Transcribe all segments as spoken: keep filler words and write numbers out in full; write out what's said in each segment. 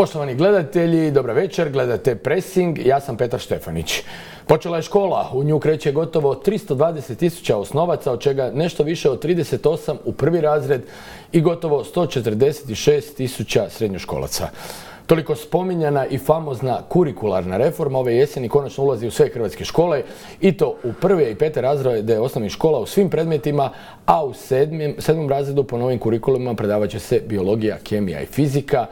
Poštovani gledatelji, dobra večer, gledate Pressing, ja sam Petar Štefanić. Počela je škola, u nju kreće gotovo tristo dvadeset tisuća osnovaca, od čega nešto više od trideset osam u prvi razred i gotovo sto četrdeset šest tisuća srednjoškolaca. Toliko spominjana i famozna kurikularna reforma ove jeseni konačno ulazi u sve hrvatske škole i to u prve i pete razrede osnovnih škola u svim predmetima, a u sedmom, sedmom razredu po novim kurikulumima predavat će se biologija, kemija i fizika.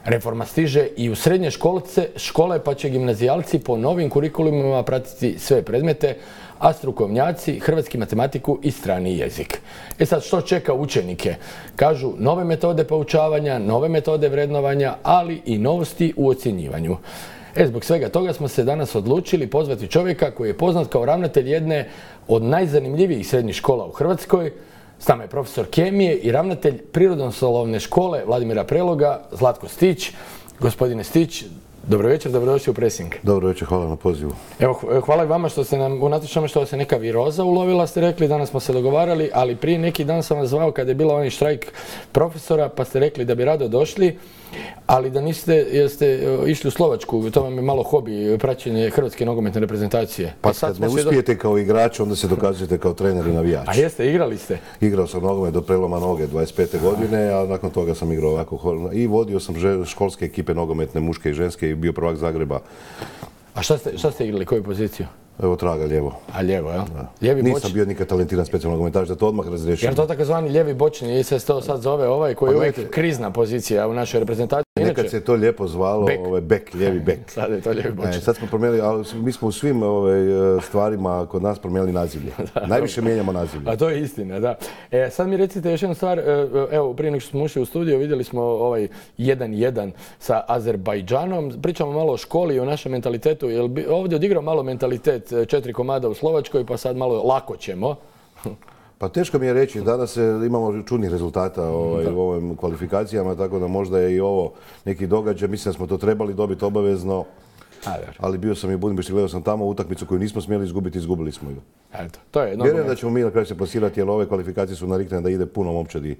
Reforma stiže i u srednje školce, škole, pa će gimnazijalci po novim kurikulumima pratiti sve predmete, a strukovnjaci hrvatski, matematiku i strani jezik. E sad, što čeka učenike? Kažu nove metode poučavanja, nove metode vrednovanja, ali i novosti u ocjenjivanju. E, zbog svega toga smo se danas odlučili pozvati čovjeka koji je poznat kao ravnatelj jedne od najzanimljivijih srednjih škola u Hrvatskoj. S nama je profesor kemije i ravnatelj Prirodoslovne škole Vladimira Preloga, Zlatko Stić. Gospodine Stić, dobro večer, dobrodošli u Pressing. Dobro večer, hvala na pozivu. Evo, hvala i vama što ste nam, unatoč tome što se neka viroza ulovila, ste rekli, danas smo se dogovarali, ali prije neki dan sam vas zvao kada je bila onaj štrajk profesora, pa ste rekli da bi rado došli, ali da niste, jeste išli u Slovačku, to vam je malo hobi, praćenje hrvatske nogometne reprezentacije. Pa kad ne uspijete kao igrač, onda se dokazujete kao trener i navijač. A jeste, igrali ste? Igrao sam nogomet do preloma noge dvadeset pete godine, a nakon toga sam igrao ovako i vodio sam školske ekipe nogometne, muške i ženske i bio prvak Zagreba. A šta ste, šta ste igrali, koju poziciju? Evo traga, lijevo. A lijevo, jel? Lijevi Nisam bočni. bio nikad talentiran specijalno nogometaš, da to odmah razriješim. Jer to takozvani lijevi bočni, i se to sad zove ovaj koji je uvijek krizna pozicija u našoj reprezentaciji. Nekad Inače, se to lijepo zvalo bek, ovaj, bek lijevi bek. Sad je to lijevi bočni. E, sad smo promijenili, ali mi smo u svim ovaj, stvarima kod nas promijenili nazivlje. Najviše mijenjamo nazivlje. A to je istina, da. E, sad mi recite još jednu stvar, evo prije nego što smo ušli u studio vidjeli smo ovaj jedan jedan sa Azerbajdžanom. Pričamo malo o školi i o našem mentalitetu. Jel bi ovdje odigrao malo mentalitet četiri komada u Slovačkoj, pa sad malo lako ćemo? Pa teško mi je reći, danas imamo čudnih rezultata ovaj, u ovim kvalifikacijama, tako da možda je i ovo neki događaj. Mislim da smo to trebali dobiti obavezno, ali bio sam i u Budimpešti, gledao sam tamo utakmicu koju nismo smjeli izgubiti, izgubili smo ju. Eto, to je vjerujem da ćemo mi na kraju se plasirati, jer ove kvalifikacije su narikne da ide puno momčadi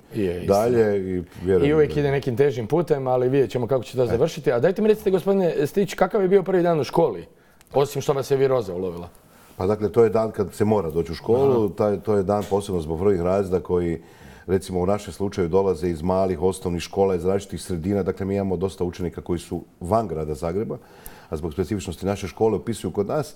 dalje. I, I uvijek da ide nekim težim putem, ali vidjet ćemo kako će to završiti. A dajte mi recite, gospodine Stić, kakav je bio prvi dan u školi, osim što vas je viroza ulovila? Pa dakle, to je dan kad se mora doći u školu, taj, to je dan posebno zbog prvih razreda koji, recimo u našem slučaju, dolaze iz malih osnovnih škola, iz različitih sredina. Dakle, mi imamo dosta učenika koji su van grada Zagreba, a zbog specifičnosti naše škole upisuju kod nas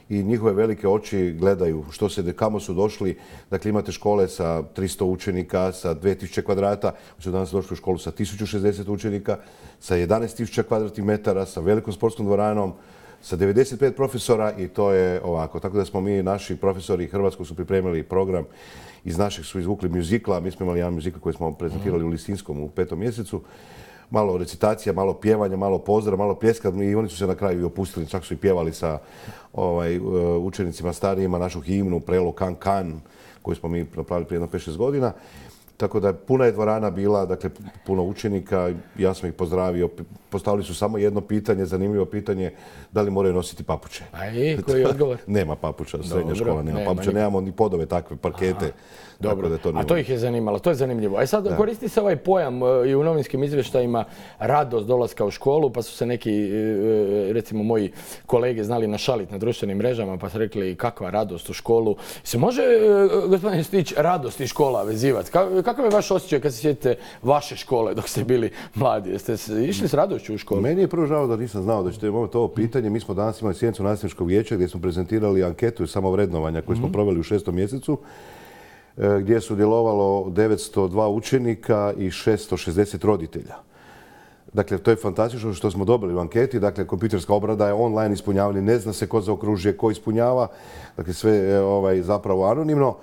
i njihove velike oči gledaju što se, kamo su došli. Dakle, imate škole sa tristo učenika, sa dvije tisuće kvadrata, mi su danas došli u školu sa tisuću šezdeset učenika, sa jedanaest tisuća kvadratnih metara, sa velikom sportskom dvoranom, sa devedeset pet profesora i to je ovako. Tako da smo mi, naši profesori Hrvatskog su pripremili program, iz našeg su izvukli mjuzikla, mi smo imali jedan mjuzikl koji smo prezentirali u Lisinskom u petom mjesecu. Malo recitacija, malo pjevanja, malo pozdrav, malo pljeska i oni su se na kraju i opustili, čak su i pjevali sa ovaj, učenicima starijima našu himnu Prelo Kan Kan, koju smo mi napravili prije jedno pet šest godina. Tako da puna je dvorana bila, dakle puno učenika, ja sam ih pozdravio, postavili su samo jedno pitanje, zanimljivo pitanje, da li moraju nositi papuče. A i koji je odgovor? Nema papuča, srednja škola nema papuča, nema, nemamo ni podove takve, parkete. Aha, dobro, da to a to ih je zanimalo, to je zanimljivo. A sad da. Koristi se ovaj pojam i u novinskim izvještajima radost dolaska u školu, pa su se neki, recimo moji kolege znali našaliti na društvenim mrežama, pa su rekli kakva radost u školu. Se može, gospodin Stić, radost i škola vezivati? Kakav je vaš osjećaj kad se sjetite vaše škole dok ste bili mladi? Jeste išli s radošću u školu? Meni je prvo žao da nisam znao da ćete imati ovo pitanje. Mi smo danas imali sjednicu nastavničkog vijeća gdje smo prezentirali anketu samovrednovanja koju smo mm-hmm. proveli u šestom mjesecu, gdje je sudjelovalo devetsto dva učenika i šesto šezdeset roditelja. Dakle, to je fantastično što smo dobili u anketi. Dakle, kompjuterska obrada je online ispunjavanje, ne zna se ko zaokružuje, ko ispunjava. Dakle, sve je ovaj, zapravo anonimno.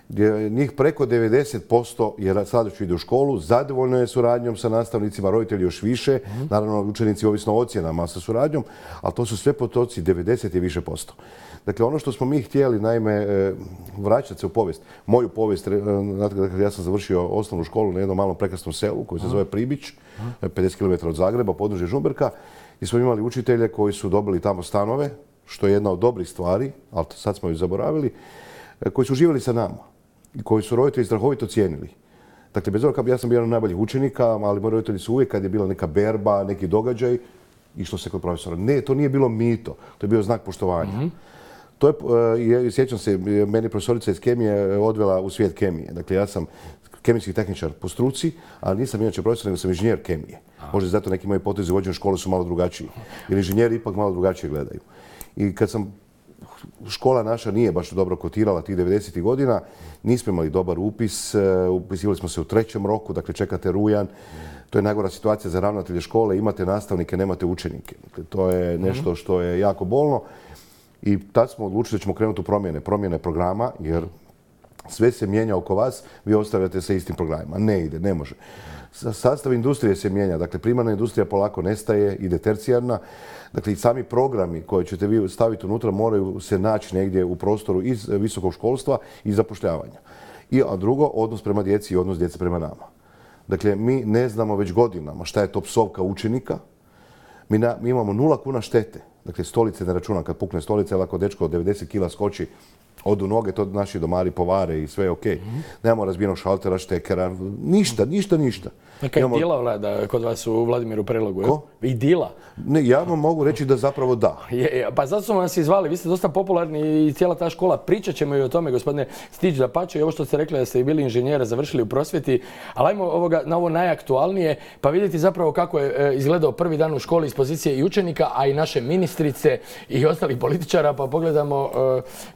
Gdje njih preko devedeset posto je sljedeće ide u školu, zadovoljno je suradnjom sa nastavnicima, roditelji još više, mm-hmm. naravno učenici ovisno o ocjenama sa suradnjom, ali to su sve potoci, devedeset je više posto. Dakle, ono što smo mi htjeli, naime, vraćati se u povijest. Moju povijest, dakle, ja sam završio osnovnu školu na jednom malom prekrasnom selu koji se zove Pribić, pedeset kilometara od Zagreba, područje Žumberka, i smo imali učitelje koji su dobili tamo stanove, što je jedna od dobrih stvari, ali sad smo ju zaboravili, koji su živjeli sa nama i koji su roditelji strahovito cijenili. Dakle, bez obzira, ja sam bio jedan od najboljih učenika, ali moji roditelji su uvijek, kad je bila neka berba, neki događaj, išlo se kod profesora. Ne, to nije bilo mito, to je bio znak poštovanja. Mm-hmm. To je, sjećam se, meni profesorica iz kemije odvela u svijet kemije. Dakle, ja sam kemijski tehničar po struci, ali nisam inače profesor, nego sam inženjer kemije. Možda zato neki moji potezi u vođenju škole su malo drugačiji. Jer inženjeri ipak malo drugačije gledaju. I kad sam, škola naša nije baš dobro kotirala tih devedesetih godina, nismo imali dobar upis, upisivali smo se u trećem roku, dakle čekate rujan. To je najgora situacija za ravnatelje škole, imate nastavnike, nemate učenike. Dakle, to je nešto što je jako bolno. I tad smo odlučili da ćemo krenuti u promjene, promjene programa, jer sve se mijenja oko vas, vi ostavljate sa istim programima. Ne ide, ne može. Sastav industrije se mijenja, dakle primarna industrija polako nestaje, ide tercijarna. Dakle, i sami programi koje ćete vi staviti unutra moraju se naći negdje u prostoru iz visokog školstva i zapošljavanja. I, a drugo, odnos prema djeci i odnos djece prema nama. Dakle, mi ne znamo već godinama šta je to psovka učenika. Mi, na, mi imamo nula kuna štete. Dakle, stolice ne računam, kad pukne stolice, ali ako dečko od devedeset kila skoči, odu noge, to naši domari povare i sve je okej. Okay. Nemamo razbijenog šaltera, štekera, ništa, ništa, ništa. Neka Imamo... idila vlada kod vas u Vladimiru Prelogu, je? Ko? Idila? Ne, ja vam mogu reći da zapravo da. Je, je, pa zato smo vas i zvali, vi ste dosta popularni i cijela ta škola. Pričat ćemo i o tome, gospodine Stić, da pače i ovo što ste rekli da ste i bili inženjera, završili u prosvjeti. Ali ajmo ovoga, na ovo najaktualnije, pa vidjeti zapravo kako je e, izgledao prvi dan u školi iz pozicije i učenika, a i naše ministrice i ostalih političara. Pa pogledamo,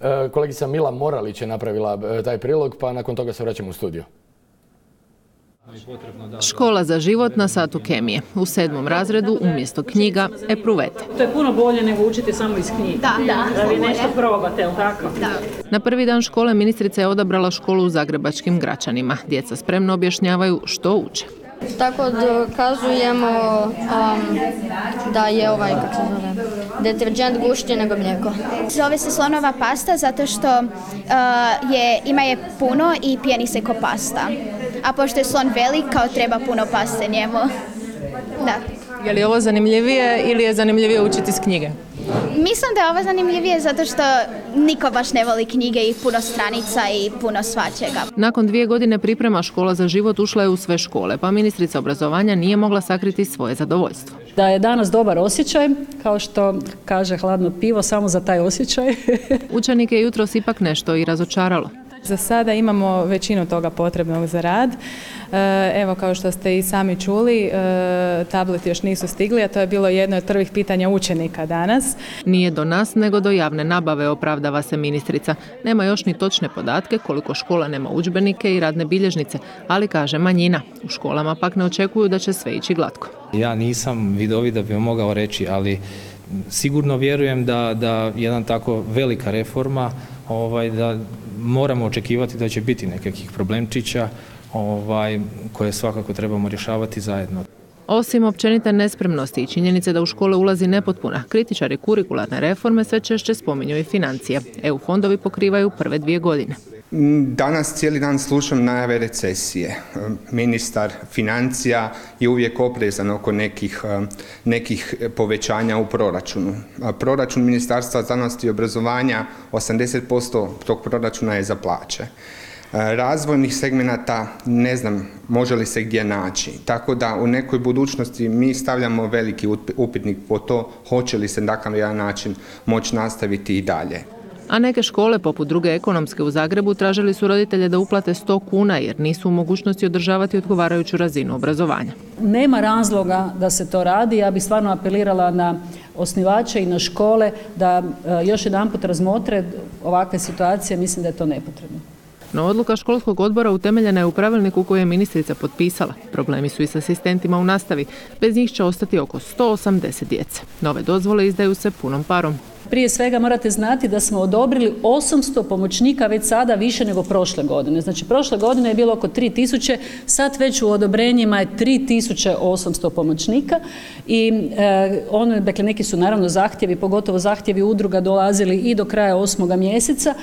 e, e, kolegica Mila Moralić je napravila e, taj prilog, pa nakon toga se vraćamo u studio. Škola za život na satu kemije. U sedmom razredu umjesto knjiga epruvete. To je puno bolje nego učiti samo iz knjiga. Da, da. Da vi nešto probate, jel tako? Da. Na prvi dan škole ministrica je odabrala školu u zagrebačkim Gračanima. Djeca spremno objašnjavaju što uče. Tako dokazujemo um, da je ovaj, kako se zove, deterđent gušći nego mlijeko. Zove se slonova pasta zato što uh, je, ima je puno i pjeni se ko pasta. A pošto je slon velik, kao treba puno paste njemu. Da. Je li ovo zanimljivije ili je zanimljivije učiti iz knjige? Mislim da je ovo zanimljivije zato što niko baš ne voli knjige i puno stranica i puno svačega. Nakon dvije godine priprema Škola za život ušla je u sve škole, pa ministrica obrazovanja nije mogla sakriti svoje zadovoljstvo. Da je danas dobar osjećaj, kao što kaže hladno pivo, samo za taj osjećaj. Učenike je jutros ipak nešto i razočaralo. Za sada imamo većinu toga potrebnog za rad. Evo, kao što ste i sami čuli, tableti još nisu stigli, a to je bilo jedno od prvih pitanja učenika danas. Nije do nas, nego do javne nabave, opravdava se ministrica. Nema još ni točne podatke koliko škola nema udžbenike i radne bilježnice, ali kaže manjina. U školama pak ne očekuju da će sve ići glatko. Ja nisam vidovit da bi vam mogao reći, ali sigurno vjerujem da, da jedan tako velika reforma, ovaj, da moramo očekivati da će biti nekakvih problemčića ovaj, koje svakako trebamo rješavati zajedno. Osim općenite nespremnosti i činjenice da u škole ulazi nepotpuna, kritičari kurikularne reforme sve češće spominju i financije. E U fondovi pokrivaju prve dvije godine. Danas cijeli dan slušam najave recesije. Ministar financija je uvijek oprezan oko nekih, nekih povećanja u proračunu. Proračun Ministarstva znanosti i obrazovanja, osamdeset posto tog proračuna je za plaće. Razvojnih segmenata ne znam može li se gdje naći. Tako da u nekoj budućnosti mi stavljamo veliki upitnik po to hoće li se takav jedan način moći nastaviti i dalje. A neke škole, poput druge ekonomske u Zagrebu, tražili su roditelje da uplate sto kuna jer nisu u mogućnosti održavati odgovarajuću razinu obrazovanja. Nema razloga da se to radi. Ja bih stvarno apelirala na osnivače i na škole da još jedanput razmotre ovakve situacije. Mislim da je to nepotrebno. No odluka školskog odbora utemeljena je u pravilniku koji je ministrica potpisala. Problemi su i s asistentima u nastavi. Bez njih će ostati oko sto osamdeset djece. Nove dozvole izdaju se punom parom. Prije svega morate znati da smo odobrili osamsto pomoćnika već sada više nego prošle godine. Znači prošle godine je bilo oko tri tisuće, sad već u odobrenjima je tri tisuće osamsto pomoćnika i e, ono, dakle neki su naravno zahtjevi, pogotovo zahtjevi udruga dolazili i do kraja osmoga mjeseca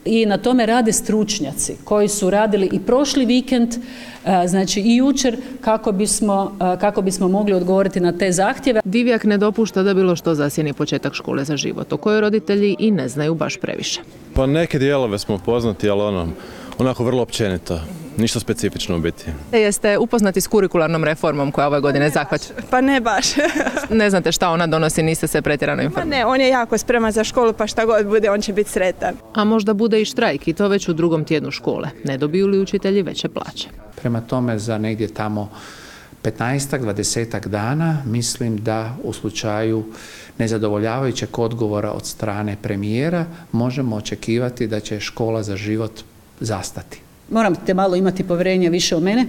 i na tome rade stručnjaci koji su radili i prošli vikend, znači i jučer kako bismo, kako bismo mogli odgovoriti na te zahtjeve. Divjak ne dopušta da bilo što zasjeni početak škole za život, o kojoj roditelji i ne znaju baš previše. Pa neke dijelove smo poznati, ali ono, Onako vrlo općenito, ništa specifično u biti. Jeste upoznati s kurikularnom reformom koja ove godine zahvaća? Pa ne baš. Ne znate šta ona donosi, niste se pretjerano informirali? Ma ne, on je jako spreman za školu, pa šta god bude, on će biti sretan. A možda bude i štrajk i to već u drugom tjednu škole. Ne dobiju li učitelji veće plaće? Prema tome za negdje tamo petnaestak, dvadesetak dana mislim da u slučaju nezadovoljavajućeg odgovora od strane premijera možemo očekivati da će škola za život zastati. Morate malo imati povjerenja više u mene,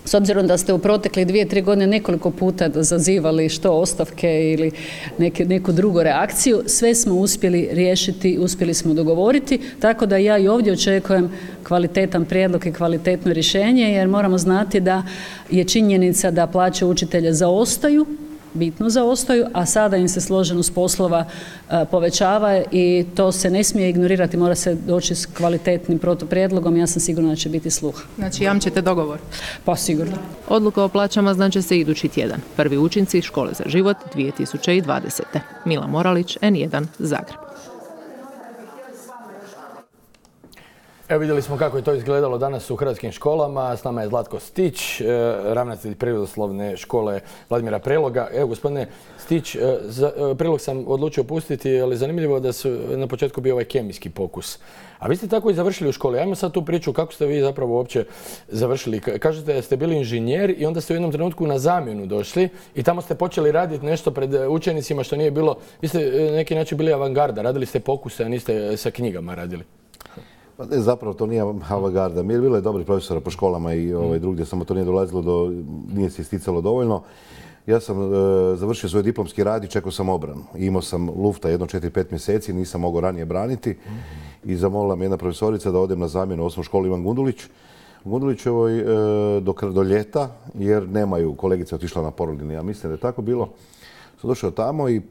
s obzirom da ste u protekli dvije, tri godine nekoliko puta zazivali što ostavke ili neke, neku drugu reakciju, sve smo uspjeli riješiti, uspjeli smo dogovoriti, tako da ja i ovdje očekujem kvalitetan prijedlog i kvalitetno rješenje, jer moramo znati da je činjenica da plaće učitelja zaostaju, bitno zaostaju, a sada im se složenost poslova povećava i to se ne smije ignorirati, mora se doći s kvalitetnim protuprijedlogom, ja sam sigurna da će biti sluha. Znači jamčite dogovor? Pa sigurno. Odluka o plaćama znači se idući tjedan. Prvi učinci Škole za život dvije tisuće dvadesete. Mila Moralić, en jedan, Zagreb. Evo vidjeli smo kako je to izgledalo danas u hrvatskim školama. S nama je Zlatko Stić, ravnatelj prirodoslovne škole Vladimira Preloga. Evo gospodine Stić, Prelog sam odlučio pustiti, ali zanimljivo da su na početku bio ovaj kemijski pokus. A vi ste tako i završili u školi. Ajmo sad tu priču kako ste vi zapravo uopće završili. Kažete da ste bili inženjer i onda ste u jednom trenutku na zamjenu došli i tamo ste počeli raditi nešto pred učenicima što nije bilo. Vi ste na neki način bili avangarda, radili ste pokuse, a niste sa knjigama radili. Pa ne, zapravo to nije avangarda. Mi je bilo je dobrih profesora po školama i ovaj, drugdje, samo to nije dolazilo do, nije se isticalo dovoljno. Ja sam e, završio svoj diplomski rad i čekao sam obranu. Imao sam lufta jedno četiri pet mjeseci, nisam mogao ranije braniti i zamolila me jedna profesorica da odem na zamjenu u osnovnu školu Ivan Gundulić. U Gundulićevoj e, do, do ljeta, jer nemaju, kolegica otišla na porodiljni, ja mislim da je tako bilo. Sam došao tamo i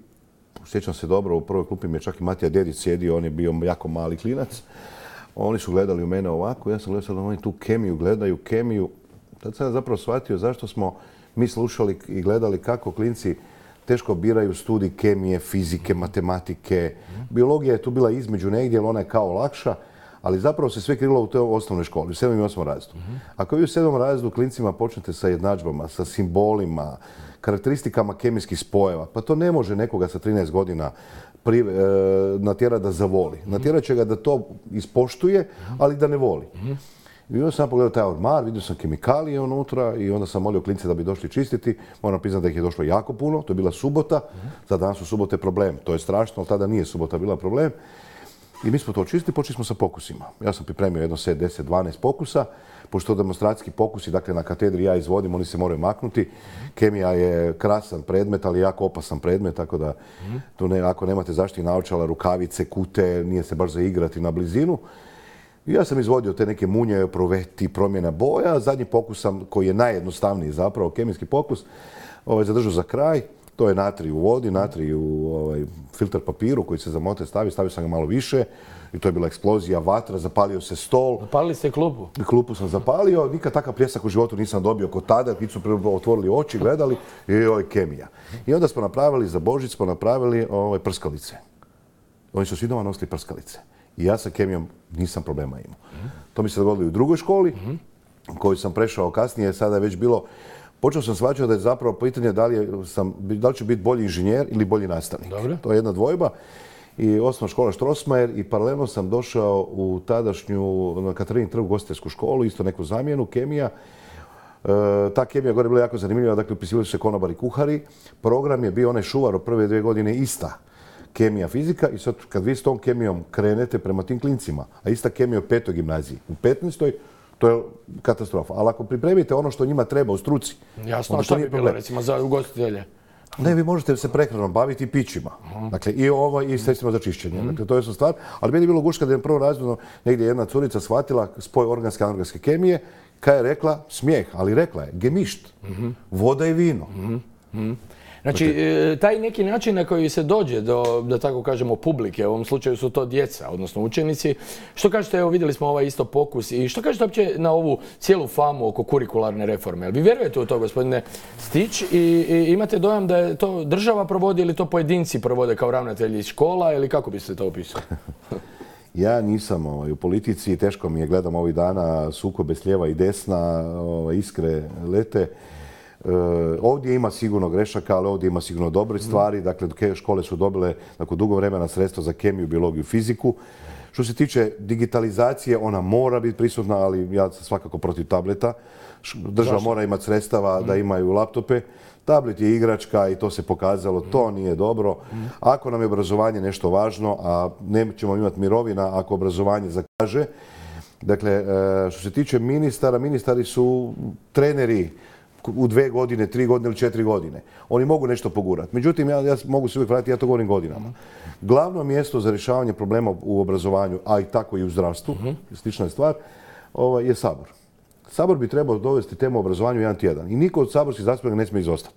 sjećam se dobro, u prvoj klupi mi je čak i Matija Dedić sjedio, on je bio jako mali klinac. Oni su gledali u mene ovako, ja sam gledao da oni tu kemiju gledaju, kemiju. Tad sam ja zapravo shvatio zašto smo mi slušali i gledali kako klinci teško biraju studij kemije, fizike, matematike. Biologija je tu bila između negdje, jer ona je kao lakša, ali zapravo se sve krilo u toj osnovnoj školi, u sedmom i osmom razredu. Ako vi u sedmom razredu klincima počnete sa jednadžbama, sa simbolima, karakteristikama kemijskih spojeva, pa to ne može nekoga sa trinaest godina Pri, e, natjera da zavoli. Natjera će ga da to ispoštuje, ali da ne voli. I onda sam pogledao taj ormar, vidio sam kemikalije unutra i onda sam molio klince da bi došli čistiti. Moram priznati da ih je došlo jako puno, to je bila subota. Za danas su subote problem. To je strašno, ali tada nije subota bila problem. I mi smo to čistili, počeli smo sa pokusima. Ja sam pripremio jedno set, deset, dvanaest pokusa. Pošto demonstracijski pokusi, dakle na katedri ja izvodim, oni se moraju maknuti. Kemija je krasan predmet, ali jako opasan predmet, tako da tu ne, ako nemate zaštitnih naočala, rukavice, kute, nije se baš za igrati na blizinu. I ja sam izvodio te neke munje, proveti, promjena boja. Zadnji pokus sam, koji je najjednostavniji zapravo, kemijski pokus, ovaj, zadržao za kraj. To je natrij u vodi, natrij u ovaj, filter papiru koji se za mote stavi, stavio sam ga malo više i to je bila eksplozija, vatra, zapalio se stol. Zapalili ste klupu? Klupu sam zapalio, nikad takav pljesak u životu nisam dobio kod tada, kad su otvorili oči, gledali i joj, kemija. I onda smo napravili, za Božić smo napravili ovaj, prskalice. Oni su svi doma nosili prskalice. I ja sa kemijom nisam problema imao. To mi se dogodilo i u drugoj školi, koju sam prešao kasnije, sada je već bilo. Počeo sam shvaćati da je zapravo pitanje da li, sam, da li ću biti bolji inženjer ili bolji nastavnik. Dobre. To je jedna dvojba. I osnovna škola Strossmayer i paralelno sam došao u tadašnju, na Katarini trgu, ugostiteljsku školu, isto neku zamjenu, kemija. E, ta kemija gore je bila jako zanimljiva, dakle upisivali su se konobari, kuhari. Program je bio onaj Šuvar od prve dvije godine ista. Kemija, fizika i sad kad vi s tom kemijom krenete prema tim klincima, a ista kemija u petoj gimnaziji, u petnaestoj to je katastrofa. Ali ako pripremite ono što njima treba u struci... Jasno, a što bi bilo recimo za ugostitelje? Ne, vi možete se prehranom baviti i pićima. Dakle, i ovo i sredstvima za čišćenje. Dakle, to je su stvar. Ali meni je bilo guška da je prvo razredno negdje jedna curica shvatila spoj organske i anorganske kemije, kada je rekla, smijeh, ali rekla je, gemišt, voda i vino. Znači, taj neki način na koji se dođe do, da tako kažemo, publike, u ovom slučaju su to djeca, odnosno učenici. Što kažete, evo vidjeli smo ovaj isto pokus i što kažete uopće na ovu cijelu famu oko kurikularne reforme? Vi vjerujete u to, gospodine Stić, i, i imate dojam da je to država provodi ili to pojedinci provode kao ravnatelji škola ili kako biste to opisali? Ja nisam ovaj, u politici, teško mi je, gledam ovih dana sukobe s lijeva i desna, ovaj, iskre lete. E, ovdje ima sigurno grešaka, ali ovdje ima sigurno dobre stvari. Dakle, škole su dobile nakon dugo vremena sredstva za kemiju, biologiju, fiziku. Što se tiče digitalizacije, ona mora biti prisutna, ali ja sam svakako protiv tableta. Država Zašto? mora imati sredstava da imaju laptope. Tablet je igračka i to se pokazalo, to nije dobro. Ako nam je obrazovanje nešto važno, a nećemo imati mirovina ako obrazovanje zakaže. Dakle, što se tiče ministara, ministari su treneri u dve godine, tri godine ili četiri godine. Oni mogu nešto pogurati. Međutim, ja, ja mogu se uvijek vratiti, ja to govorim godinama. Glavno mjesto za rješavanje problema u obrazovanju, a i tako i u zdravstvu, slična je stvar, ovaj, je Sabor. Sabor bi trebao dovesti temu obrazovanju jedan tjedan. I niko od saborskih zastupnika ne smije izostati.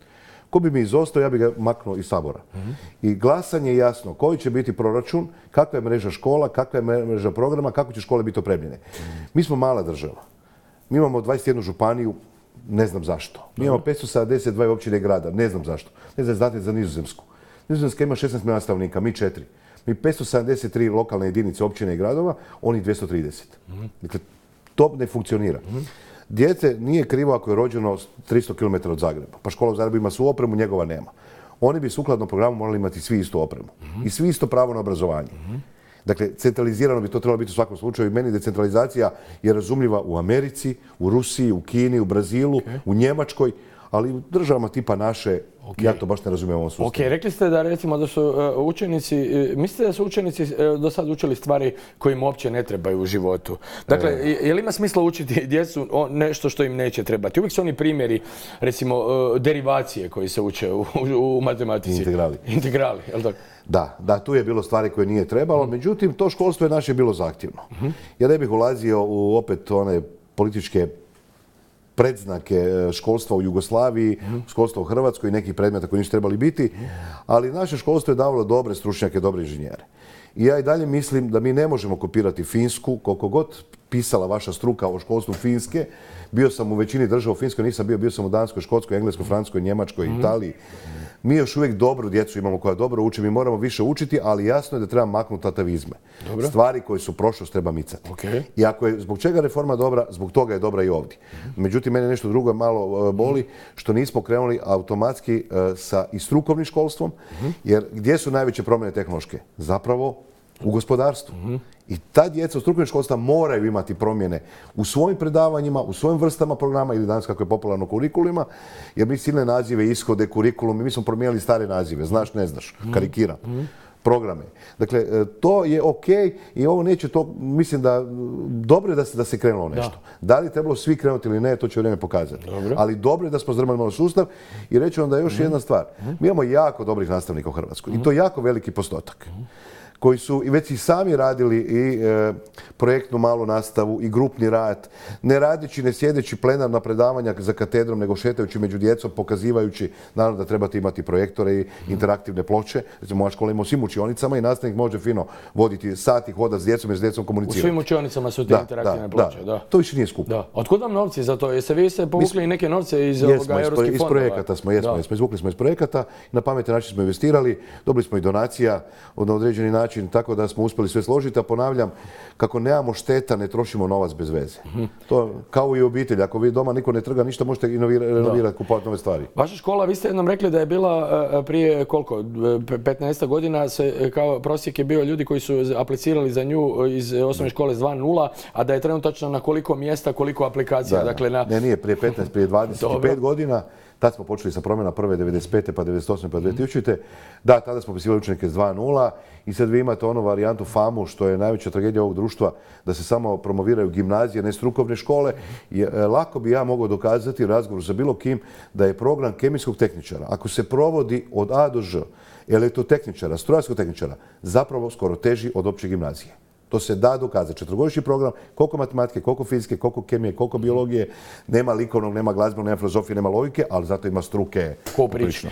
Ko bi mi izostao, ja bi ga maknuo iz Sabora. I glasanje je jasno koji će biti proračun, kakva je mreža škola, kakva je mreža programa, kako će škole biti opremljene. Mi smo mala država. Mi imamo dvadeset jednu županiju, ne znam zašto. Mi imamo petsto sedamdeset dva općine i grada, ne znam zašto. Ne znam, znate za Nizozemsku. Nizozemska ima šesnaest milijuna stanovnika, mi četiri. Mi petsto sedamdeset tri lokalne jedinice općine i gradova, oni dvjesto trideset. Dakle, to ne funkcionira. Djece nije krivo ako je rođeno tristo kilometara od Zagreba. Pa škola u Zagrebu ima svu opremu, njegova nema. Oni bi sukladno programu morali imati svi istu opremu. I svi isto pravo na obrazovanje. Dakle, centralizirano bi to trebalo biti u svakom slučaju. Meni decentralizacija je razumljiva u Americi, u Rusiji, u Kini, u Brazilu, okay. u Njemačkoj, ali u državama tipa naše, okay. ja to baš ne razumijem u ovom sustavu. Ok, rekli ste da recimo da su uh, učenici, uh, mislite da su učenici uh, do sad učili stvari koje im uopće ne trebaju u životu? Dakle, e... je li ima smisla učiti djecu o nešto što im neće trebati? Uvijek su oni primjeri, recimo, uh, derivacije koji se uče u, u, u matematici. Integrali. Integrali, je li tako? Da, da, tu je bilo stvari koje nije trebalo, mm. međutim, to školstvo je naše bilo zahtjevno. Mm-hmm. Ja ne bih ulazio u opet one političke predznake školstva u Jugoslaviji, mm. školstva u Hrvatskoj i nekih predmeta koji nisu trebali biti, ali naše školstvo je davalo dobre stručnjake, dobre inženjere. I ja i dalje mislim da mi ne možemo kopirati Finsku, koliko god pisala vaša struka o školstvu Finske. Bio sam u većini država u Finskoj, nisam bio, bio sam u Danskoj, Škotskoj, Engleskoj, Francuskoj, Njemačkoj, mm. Italiji. Mi još uvijek dobru djecu imamo koja dobro uči, mi moramo više učiti, ali jasno je da treba maknuti atavizme. Dobro. Stvari koje su prošlost treba micati. Okay. I ako je zbog čega reforma dobra, zbog toga je dobra i ovdje. Mm-hmm. Međutim, mene nešto drugo malo boli, što nismo krenuli automatski uh, sa i strukovnim školstvom, mm-hmm. jer gdje su najveće promjene tehnološke? Zapravo u gospodarstvu. Mm-hmm. I ta djeca u strukovnim školstva moraju imati promjene u svojim predavanjima, u svojim vrstama programa ili danas kako je popularno kurikulima, jer mi silne nazive, ishode, kurikulum, mi smo promijenili stare nazive, znaš, ne znaš, karikiram, mm-hmm. programe. Dakle, to je ok i ovo neće to, mislim da, dobro je da se, da se krenulo nešto. Da. da li je trebalo svi krenuti ili ne, to će vrijeme pokazati. Dobro. Ali dobro je da smo zdrmali malo sustav i reći vam da je još mm-hmm. jedna stvar. Mi imamo jako dobrih nastavnika u Hrvatskoj mm-hmm. i to je jako veliki postotak. Mm-hmm. koji su i već i sami radili i e, projektnu malu nastavu i grupni rad, ne radeći, ne sjedeći plenarna predavanja za katedrom, nego šetajući među djecom, pokazivajući, naravno da trebate imati projektore i interaktivne ploče. Recimo, moja škola ima u svim učionicama i nastavnik može fino voditi sati, hoda s djecom i s djecom komunicirati. U svim učionicama su te da, interaktivne da, ploče, da. da. To više nije skupo. Da. Otkud vam novci za to? Jeste vi se povukli i neke novce iz jesmo, ovoga europskih iz fondova? projekata smo, jesmo, jesmo, izvukli smo iz projekata, na pametan način smo investirali, dobili smo i donacija na određeni način, tako da smo uspjeli sve složiti, a ponavljam, kako nemamo šteta, ne trošimo novac bez veze. Mm-hmm. To kao i u obitelji, ako vi doma niko ne trga ništa, možete inovirati, renovirati, kupovati nove stvari. Vaša škola, vi ste jednom rekli da je bila prije koliko, petnaest godina, se, kao prosjek je bio ljudi koji su aplicirali za nju iz osnovne škole s dva nula, a da je trenutačno na koliko mjesta, koliko aplikacija. Da, dakle, na... Ne, nije prije petnaest, prije dvadeset pet godina. Tad smo počeli sa promjena prve devedeset pete pa devedeset osme pa dvije tisućite. Da, tada smo upisivali učenike s dva nula i sad vi imate onu varijantu famu što je najveća tragedija ovog društva, da se samo promoviraju gimnazije, ne strukovne škole. I, lako bi ja mogao dokazati u razgovoru sa bilo kim da je program kemijskog tehničara, ako se provodi od A do Ž, elektrotehničara, strojarskog tehničara, zapravo skoro teži od opće gimnazije. To se da dokazati. Četvrogodišnji program, koliko matematike, koliko fizike, koliko kemije, koliko biologije, nema likovnog, nema glazbenog, nema filozofije, nema logike, ali zato ima struke. Poprično.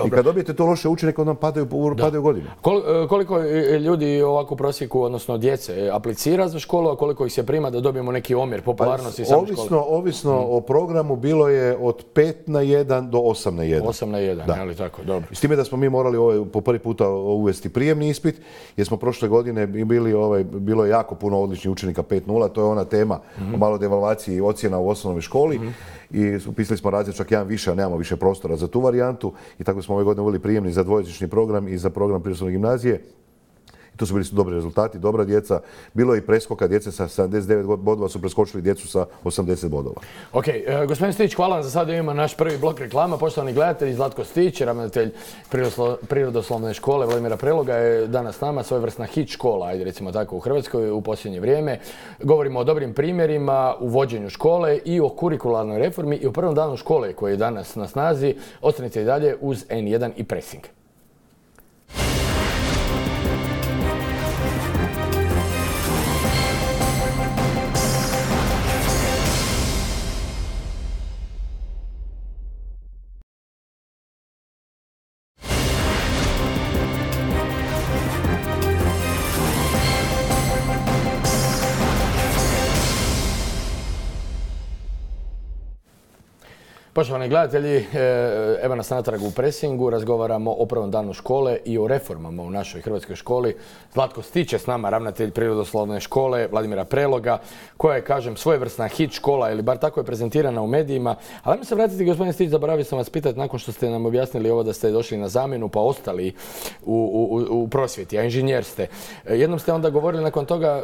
I kad dobijete to loše učenike, onda padaju, padaju godine. Kol, koliko ljudi ovako u prosjeku, odnosno djece, aplicira za školu, a koliko ih se prima da dobijemo neki omjer popularnosti same škole? Ovisno, ovisno hmm. o programu bilo je od pet na jedan do osam na jedan. osam na jedan, da. Ali tako, dobro. S time da smo mi morali ovaj, po prvi puta uvesti prijemni ispit, jer smo prošle godine bili ovaj, bilo je jako puno odličnih učenika pet nula, to je ona tema o malo devalvaciji i ocjena u osnovnoj školi. I upisali smo razred čak jedan više, a nemamo više prostora za tu varijantu. I tako smo ove godine uveli prijemni za dvojezični program i za program prirodoslovne gimnazije. I to su bili dobri rezultati, dobra djeca. Bilo je i preskoka, djece sa sedamdeset devet bodova su preskočili djecu sa osamdeset bodova. Ok, e, gospodin Stić, hvala vam za sada. Imamo naš prvi blok reklama. Poštovani gledatelji, Zlatko Stić, ravnatelj prirodoslovne škole Vladimira Preloga je danas s nama, svojevrsna hit škola, ajde recimo tako u Hrvatskoj u posljednje vrijeme. Govorimo o dobrim primjerima u vođenju škole i o kurikularnoj reformi i o prvom danu škole koji je danas na snazi. Ostanite i dalje uz en jedan i Pressing. Poštovani gledatelji, evo nas natrag u Pressingu, razgovaramo o prvom danu škole i o reformama u našoj hrvatskoj školi. Zlatko Stić je s nama, ravnatelj prirodoslovne škole Vladimira Preloga, koja je, kažem, svojevrsna hit škola, ili bar tako je prezentirana u medijima. Ali ajmo se vratiti, gospodin Stić, zaboravio sam vas pitati, nakon što ste nam objasnili ovo da ste došli na zamjenu pa ostali u, u, u prosvjeti, a inženjer ste. Jednom ste onda govorili nakon toga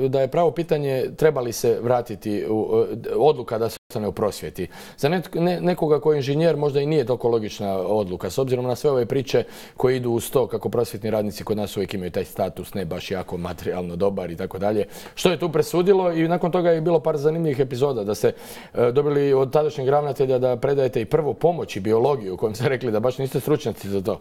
da je pravo pitanje treba li se vratiti u, odluka da se ostane u prosvjeti. Za netko, ne, nekoga koji je inženjer možda i nije toliko logična odluka, s obzirom na sve ove priče koje idu uz to kako prosvjetni radnici kod nas uvijek imaju taj status, ne baš jako materijalno dobar i tako dalje. Što je tu presudilo i nakon toga je bilo par zanimljivih epizoda da ste e, dobili od tadašnjeg ravnatelja da predajete i prvu pomoć i biologiju u kojem ste rekli da baš niste stručnjaci za to.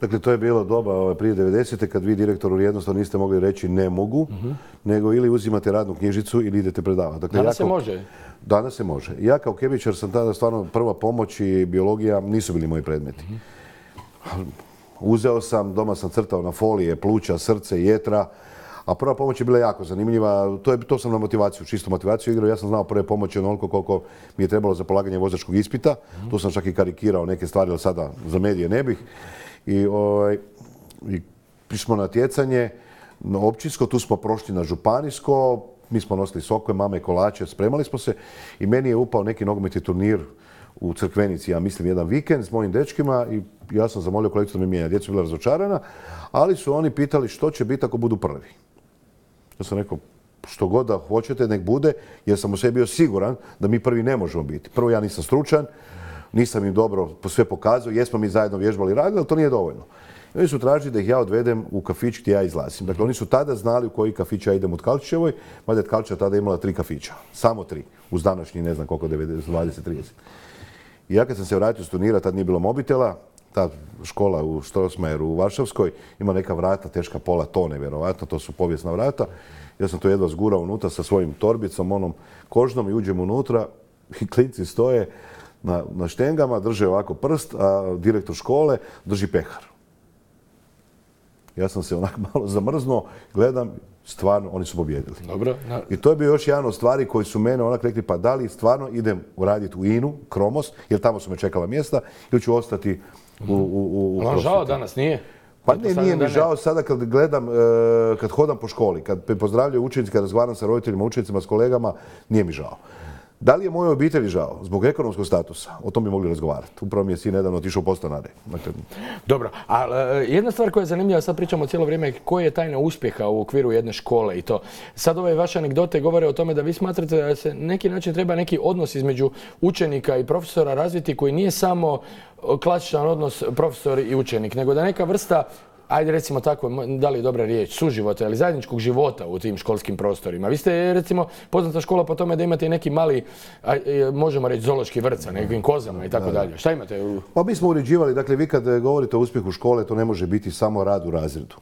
Dakle, to je bilo doba prije devedesete kad vi direktoru jednostavno niste mogli reći ne mogu, uh-huh. nego ili uzimate radnu knjižicu ili idete predavati. Dakle, danas ja se kao, može? Danas se može. Ja kao kemičar sam tada stvarno prva pomoć i biologija nisu bili moji predmeti. Uh-huh. Uzeo sam, doma sam crtao na folije, pluća, srce, jetra, a prva pomoć je bila jako zanimljiva. To, je, to sam na motivaciju, čistu motivaciju igrao. Ja sam znao prve pomoći onoliko koliko mi je trebalo za polaganje vozačkog ispita. Uh-huh. Tu sam čak i karikirao neke stvari, ali sada za medije ne bih. I, ovaj, i smo na natjecanje na općinsko, tu smo prošli na županijsko, mi smo nosili sokove, mame, kolače, spremali smo se i meni je upao neki nogometni turnir u Crkvenici, ja mislim jedan vikend s mojim dečkima i ja sam zamolio kolegicu da mi mijenja. Djeca bila razočarana, ali su oni pitali što će biti ako budu prvi. Ja sam rekao, što god da hoćete, nek bude, jer sam u sebi bio siguran da mi prvi ne možemo biti. Prvo, ja nisam stručan, nisam im dobro sve pokazao, jesmo mi zajedno vježbali i radili, ali to nije dovoljno. I oni su tražili da ih ja odvedem u kafić gdje ja izlazim. Dakle, oni su tada znali u koji kafić ja idem u Tkalčićevoj, mada je Tkalčića tada imala tri kafića. Samo tri. Uz današnji, ne znam koliko, dvadeset trideset. I ja kad sam se vratio s turnira, tad nije bilo mobitela, ta škola u Strossmayeru u Varšavskoj ima neka vrata, teška pola tone, vjerovatno, to su povijesna vrata. Ja sam to jedva zgurao unutra sa svojim torbicom, onom kožnom i uđem unutra i klinci stoje na, na štengama, drže ovako prst, a direktor škole drži pehar. Ja sam se onako malo zamrznuo, gledam, stvarno, oni su pobjedili. Dobro. Na... I to je bio još jedan od stvari koji su mene onak rekli, pa da li stvarno idem raditi u Inu, Kromos, jer tamo su me čekala mjesta, ili ću ostati u, u, u prosvjeti. Žao danas nije? Pa ne, nije mi žao sada kad gledam, kad hodam po školi, kad pozdravljaju učenici, kad razgovaram sa roditeljima, učenicima, s kolegama, nije mi žao. Da li je mojoj obitelji žao? Zbog ekonomskog statusa? O tom bi mogli razgovarati. Upravo mi je sin nedavno otišao u podstanare. Dakle... Dobro, a jedna stvar koja je zanimljiva, sad pričamo cijelo vrijeme, koja je tajna uspjeha u okviru jedne škole i to. Sad ove vaše anegdote govore o tome da vi smatrate da se neki način treba neki odnos između učenika i profesora razviti koji nije samo klasičan odnos profesor i učenik, nego da neka vrsta, ajde recimo tako, da li je dobra riječ, suživota ili zajedničkog života u tim školskim prostorima. Vi ste recimo poznata škola po tome da imate i neki mali, možemo reći, zoološki vrt sa nekim kozama i tako dalje. Šta imate? U... Pa mi smo uređivali, dakle vi kad govorite o uspjehu škole, to ne može biti samo rad u razredu.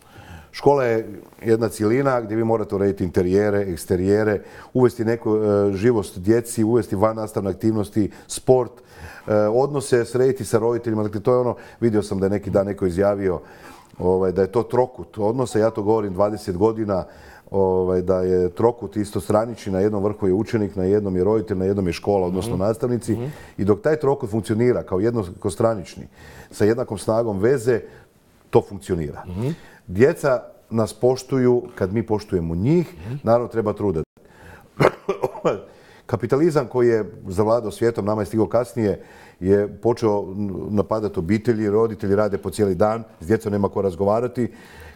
Škola je jedna cjelina gdje vi morate urediti interijere, eksterijere, uvesti neku e, živost djeci, uvesti vannastavne aktivnosti, sport, e, odnose srediti sa roditeljima. Dakle, to je ono, vidio sam da je neki dan neko izjavio ovaj, da je to trokut odnosa, ja to govorim dvadeset godina, ovaj, da je trokut istostranični, na jednom vrhu je učenik, na jednom je roditelj, na jednom je škola, odnosno mm-hmm. nastavnici. Mm-hmm. I dok taj trokut funkcionira kao jednokostranični, sa jednakom snagom veze, to funkcionira. Mm-hmm. Djeca nas poštuju kad mi poštujemo njih. Naravno, treba truda. Kapitalizam koji je zavladao svijetom, nama je stigao kasnije, je počeo napadati obitelji, roditelji rade po cijeli dan, s djecom nema ko razgovarati.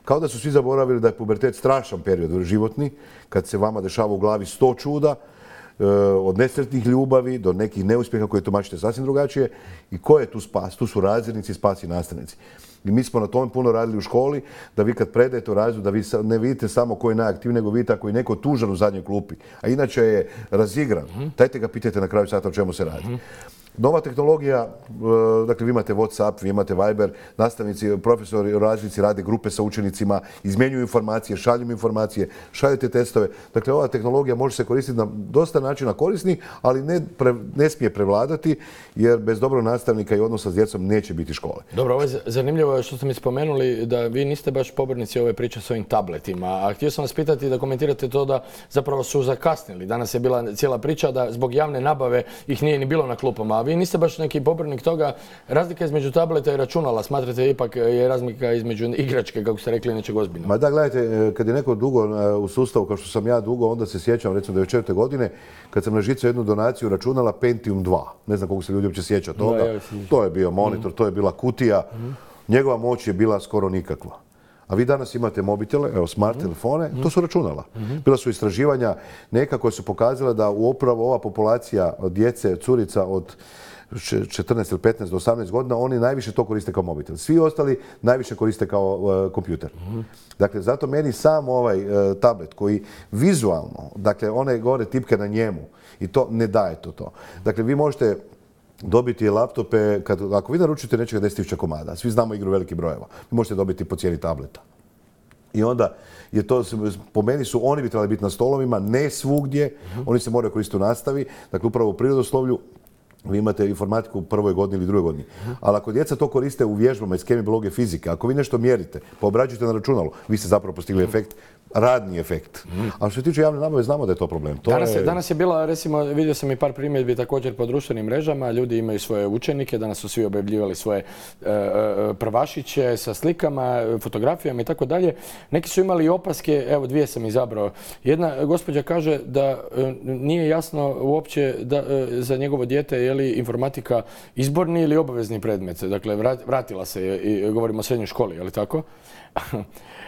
Kao da su svi zaboravili da je pubertet strašan period životni, kad se vama dešava u glavi sto čuda, od nesretnih ljubavi do nekih neuspjeha koje tumačite sasvim drugačije. I ko je tu spas? Tu su razrednici, spas i nastavnici. I mi smo na tome puno radili u školi, da vi kad predajete u razredu, da vi ne vidite samo ko je najaktivniji, nego vidite ako je neko tužan u zadnjoj klupi. A inače je razigran. Dajte ga pitajte na kraju sata o čemu se radi. Nova tehnologija, dakle vi imate WhatsApp, vi imate Viber, nastavnici, profesori, razrednici rade grupe sa učenicima, izmjenjuju informacije, šalju informacije, šaljete testove. Dakle, ova tehnologija može se koristiti na dosta načina korisnih, ali ne, pre, ne smije prevladati, jer bez dobrog nastavnika i odnosa s djecom neće biti škole. Dobro, ovo je zanimljivo što ste mi spomenuli da vi niste baš pobornici ove priče s ovim tabletima. A htio sam vas pitati da komentirate to da zapravo su zakasnili. Danas je bila cijela priča da zbog javne nabave ih nije ni bilo na klupama. Vi niste baš neki pobornik toga. Razlika između tableta i računala, smatrate ipak je razlika između igračke, kako ste rekli, nečeg ozbiljnog? Ma da, gledajte, kad je neko dugo u sustavu, kao što sam ja dugo, onda se sjećam, recimo devedeset četvrte godine, kad sam na žicu jednu donaciju računala Pentium dva. Ne znam koliko se ljudi uopće sjeća toga. Da, to je bio monitor, to je bila kutija. Njegova moć je bila skoro nikakva. A vi danas imate mobitele, evo smart telefone, to su računala. Bila su istraživanja neka koja su pokazala da upravo ova populacija djece, curica od četrnaest ili petnaest do osamnaest godina, oni najviše to koriste kao mobitel. Svi ostali najviše koriste kao uh, kompjuter. Dakle, zato meni sam ovaj uh, tablet koji vizualno, dakle, one gore tipke na njemu i to ne daje to to. Dakle, vi možete dobiti laptope, kad, ako vi naručite nečega deset tisuća komada, svi znamo igru velikih brojeva, vi možete dobiti po cijeni tableta. I onda je to, po meni su, oni bi trebali biti na stolovima, ne svugdje, oni se moraju koristiti u nastavi, dakle upravo u prirodoslovlju. Vi imate informatiku u prvoj godini ili drugoj godini. Ali ako djeca to koriste u vježbama iz kemije, biologije, fizike, ako vi nešto mjerite, pa obrađujete na računalu, vi ste zapravo postigli efekt, radni efekt. A što se tiče javne nabave, znamo da je to problem. To danas, je, je... danas je bila, recimo, vidio sam i par primjedbi također po društvenim mrežama, ljudi imaju svoje učenike, danas su svi objavljivali svoje e, e, prvašiće sa slikama, fotografijama i tako dalje. Neki su imali opaske, evo dvije sam izabrao. Jedna gospođa kaže da e, nije jasno uopće da, e, za njegovo dijete je li informatika izborni ili obavezni predmet. Dakle, vratila se i govorimo o srednjoj školi, je li tako?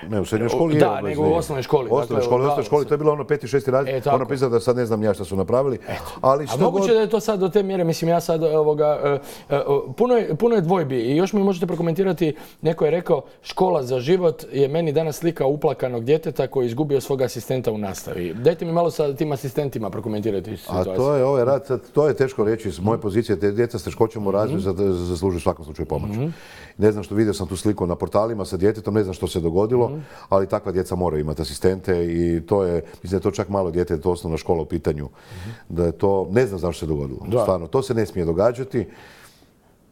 Ne, u srednjoj školi je da, obavezni. nego u osnovnoj školi. U osnovnoj školi, osnovnoj školi, to je bilo ono peti, šesti razred, e, ono pisao da sad ne znam ja šta su napravili. Ali što A moguće god... da je to sad do te mjere, mislim ja sad ovoga, uh, uh, puno, je, puno je dvojbi i još mi možete prokomentirati, neko je rekao škola za život je meni danas slika uplakanog djeteta koji je izgubio svog asistenta u nastavi. Dajte mi malo sa tim asistentima prokomentirati situaciju. A to je ovaj rad, sad, to je teško reći s moje pozicije, te djeca s teškoćom u razvoju mm-hmm. zaslužuju u svakom slučaju pomoć. Mm-hmm. Ne znam što, vidio sam tu sliku na portalima sa djetetom, ne znam što se dogodilo, mm-hmm. ali takva djeca moraju imati asistente i to je, mislim da je to čak malo dijete, to osnovna škola u pitanju, mm-hmm. da je to, ne znam zašto se dogodilo. Da. Stvarno, to se ne smije događati.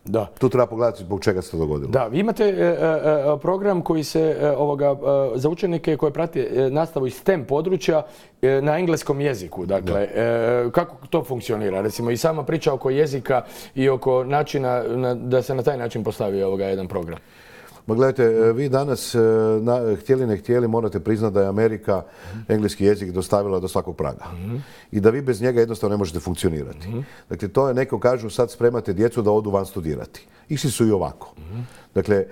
Da. Tu treba pogledati zbog čega se to dogodilo. Da, vi imate e, e, program koji se e, ovoga, e, za učenike koji prate e, nastavu iz STEM područja e, na engleskom jeziku. Dakle, e, kako to funkcionira? Recimo i sama priča oko jezika i oko načina na, da se na taj način postavi ovoga jedan program. Ma gledajte, vi danas, na, htjeli ne htjeli, morate priznati da je Amerika engleski jezik dostavila do svakog praga. Mm-hmm. I da vi bez njega jednostavno ne možete funkcionirati. Mm-hmm. Dakle, to je, neko kažu, sad spremate djecu da odu van studirati. Išli su i ovako. Mm-hmm. Dakle, e,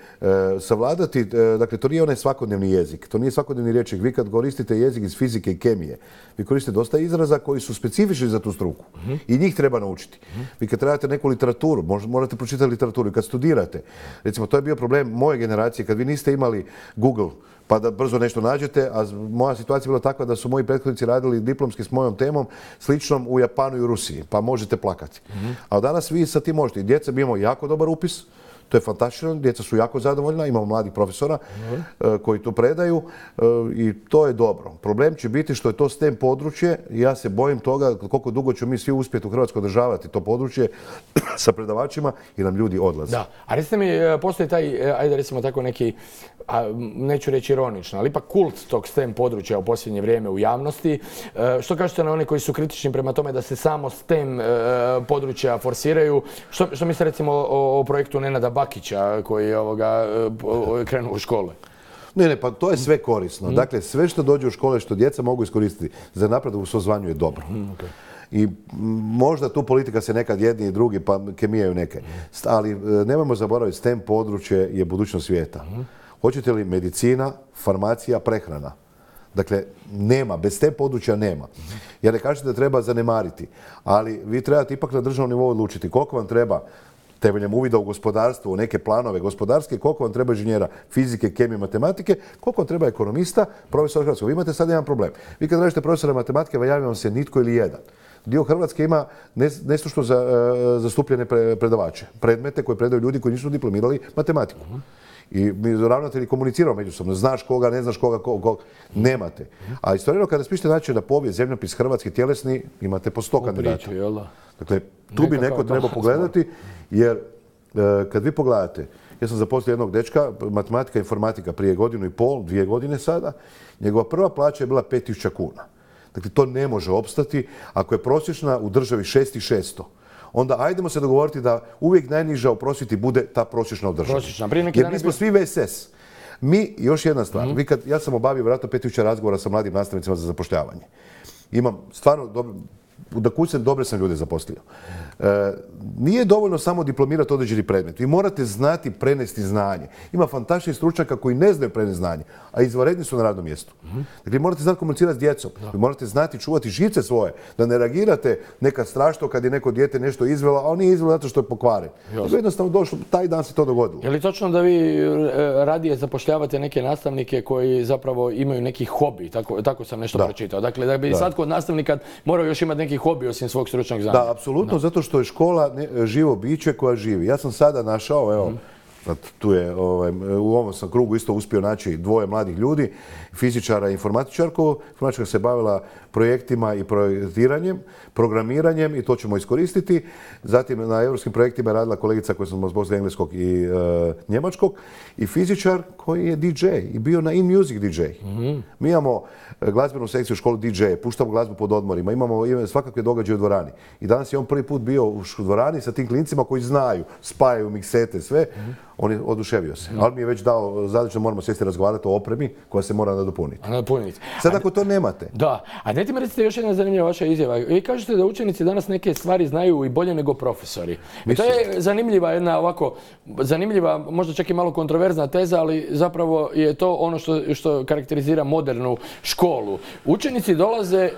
savladati, e, dakle, to nije onaj svakodnevni jezik, to nije svakodnevni rječnik. Vi kad koristite jezik iz fizike i kemije, vi koristite dosta izraza koji su specifični za tu struku. Mm-hmm. I njih treba naučiti. Mm-hmm. Vi kad trebate neku literaturu, morate pročitati literaturu. I kad studirate, recimo, to je bio problem moje generacije, kad vi niste imali Google, pa da brzo nešto nađete, a moja situacija je bila takva da su moji prethodnici radili diplomski s mojom temom sličnom u Japanu i u Rusiji, pa možete plakati. Mm-hmm. A danas vi sa tim možete. I djeca bi imamo jako dobar upis, to je fantastično, djeca su jako zadovoljna, imamo mladih profesora mm-hmm. uh, koji to predaju uh, i to je dobro. Problem će biti što je to STEM područje i ja se bojim toga koliko dugo ćemo mi svi uspjeti u Hrvatskoj održavati to područje sa predavačima i nam ljudi odlaze. Da, a recite mi, postoji taj, ajde recimo tako neki, a, neću reći ironično, ali ipak kult tog STEM područja u posljednje vrijeme u javnosti. E, što kažete na one koji su kritični prema tome da se samo STEM e, područja forsiraju? Što, što mislite recimo o, o projektu Nenada Bakića koji je ovoga, krenuo u škole? Ne, ne, pa to je sve korisno. Dakle, sve što dođe u škole, što djeca mogu iskoristiti za napredak u svom zvanju je dobro. I možda tu politika se nekad jedni i drugi pa kemijaju neke. Ali nemojmo zaboraviti, STEM područje je budućnost svijeta. Hoćete li medicina, farmacija, prehrana? Dakle, nema, bez te područja nema. Ja ne kažem da treba zanemariti, ali vi trebate ipak na državnom nivou odlučiti koliko vam treba temeljem uvida u gospodarstvo, u neke planove gospodarske, koliko vam treba inženjera fizike, kemije, matematike, koliko vam treba ekonomista, profesora hrvatskog. Vi imate sad jedan problem. Vi kad tražite profesora matematike, javlja vam se nitko ili jedan. Dio Hrvatske ima nestručno zastupljene predavače, predmete koje predaju ljudi koji nisu diplomirali matematiku. I mi ravnatelji komuniciramo međusobno, znaš koga, ne znaš koga, koga, nemate. A istovremeno kada spišete način na povijest, zemljopis hrvatski tjelesni, imate po sto kandidata. Dakle, tu bi neko trebao pogledati, jer kad vi pogledate, ja sam zaposlio jednog dečka, matematika i informatika prije godinu i pol, dvije godine sada, njegova prva plaća je bila pet tisuća kuna. Dakle, to ne može opstati ako je prosječna u državi šest tisuća šesto. Onda ajdemo se dogovoriti da uvijek najniža u prosvjeti bude ta prosječna u državi. Jer mi smo svi V S S. Mi, još jedna stvar, vi kad, ja sam obavio vjerojatno pet tisuća razgovora sa mladim nastavnicima za zapošljavanje. Imam stvarno, dobro, da kućem dobre sam ljude zaposlio. E, nije dovoljno samo diplomirati određeni predmet. Vi morate znati prenesti znanje. Ima fantastičnih stručnjaka koji ne znaju prenesti znanje, a izvanredni su na radnom mjestu. Dakle, morate znati komunicirati s djecom. Vi morate znati čuvati živce svoje, da ne reagirate nekad strašno kad je neko dijete nešto izvelo, a on nije izvelo zato što je pokvaren. Nego jednostavno došlo, taj dan se to dogodilo. Je li točno da vi radije zapošljavate neke nastavnike koji zapravo imaju neki hobi? Tako, tako sam nešto pročitao. Dakle, da bi sad kod nastavnika morao još imati neki hobi osim svog stručnog znanja. Da, apsolutno, zato što je škola ne, živo biće koja živi. Ja sam sada našao, evo, mm. tu je, ovaj, u ovom sam krugu isto uspio naći dvoje mladih ljudi, fizičara i informatičarku. Informatičarka se bavila projektima i projektiranjem, programiranjem i to ćemo iskoristiti. Zatim na europskim projektima je radila kolegica koja sam zbog engleskog i e, njemačkog i fizičar koji je D J i bio na In Music D J. Mm-hmm. Mi imamo glazbenu sekciju u školu D J, puštamo glazbu pod odmorima, imamo, imamo svakakve događaje u dvorani. I danas je on prvi put bio u dvorani sa tim klincima koji znaju, spajaju miksete, sve. Mm-hmm. On je oduševio se. Mm-hmm. Ali mi je već dao zadaću da moramo sjesti razgovarati o opremi koja se mora nadopuniti. Nadopuniti. Sad ako to nemate. Da. A dajte mi recite još jedna zanimljiva vaša izjava. Vi kažete da učenici danas neke stvari znaju i bolje nego profesori. I to je zanimljiva jedna ovako, zanimljiva, možda čak i malo kontroverzna teza, ali zapravo je to ono što, što karakterizira modernu školu. Učenici dolaze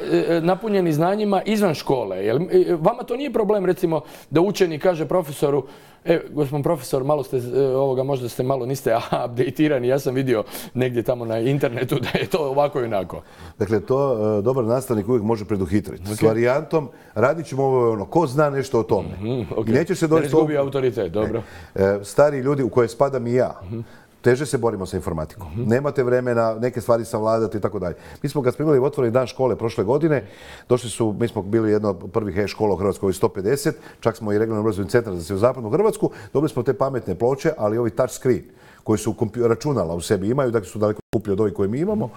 napunjeni znanjima izvan škole. Jel, vama to nije problem recimo da učenik kaže profesoru: E, gospodin profesor, malo ste, ovoga, možda ste malo, niste updatirani, ja sam vidio negdje tamo na internetu da je to ovako i onako. Dakle, to uh, dobar nastavnik uvijek može preduhitriti. Okay. S varijantom, radit ćemo ovo ono, ko zna nešto o tome. Mm-hmm, okay. I neće se doći... Ne izgubi autoritet, dobro. E, stari ljudi u koje spadam i ja, mm-hmm. teže se borimo sa informatikom. Mm-hmm. Nemate vremena, neke stvari savladati i tako dalje. Mi smo kad smo imali otvoreni dan škole prošle godine, došli su, mi smo bili jedna od prvih e-škola u Hrvatskoj, sto pedeset, čak smo i regionalni obrazovni centar za sjeverozapadnu Hrvatsku, dobili smo te pametne ploče, ali ovi touch screen koji su računala u sebi imaju, dakle su daleko skuplji od ovih koje mi imamo.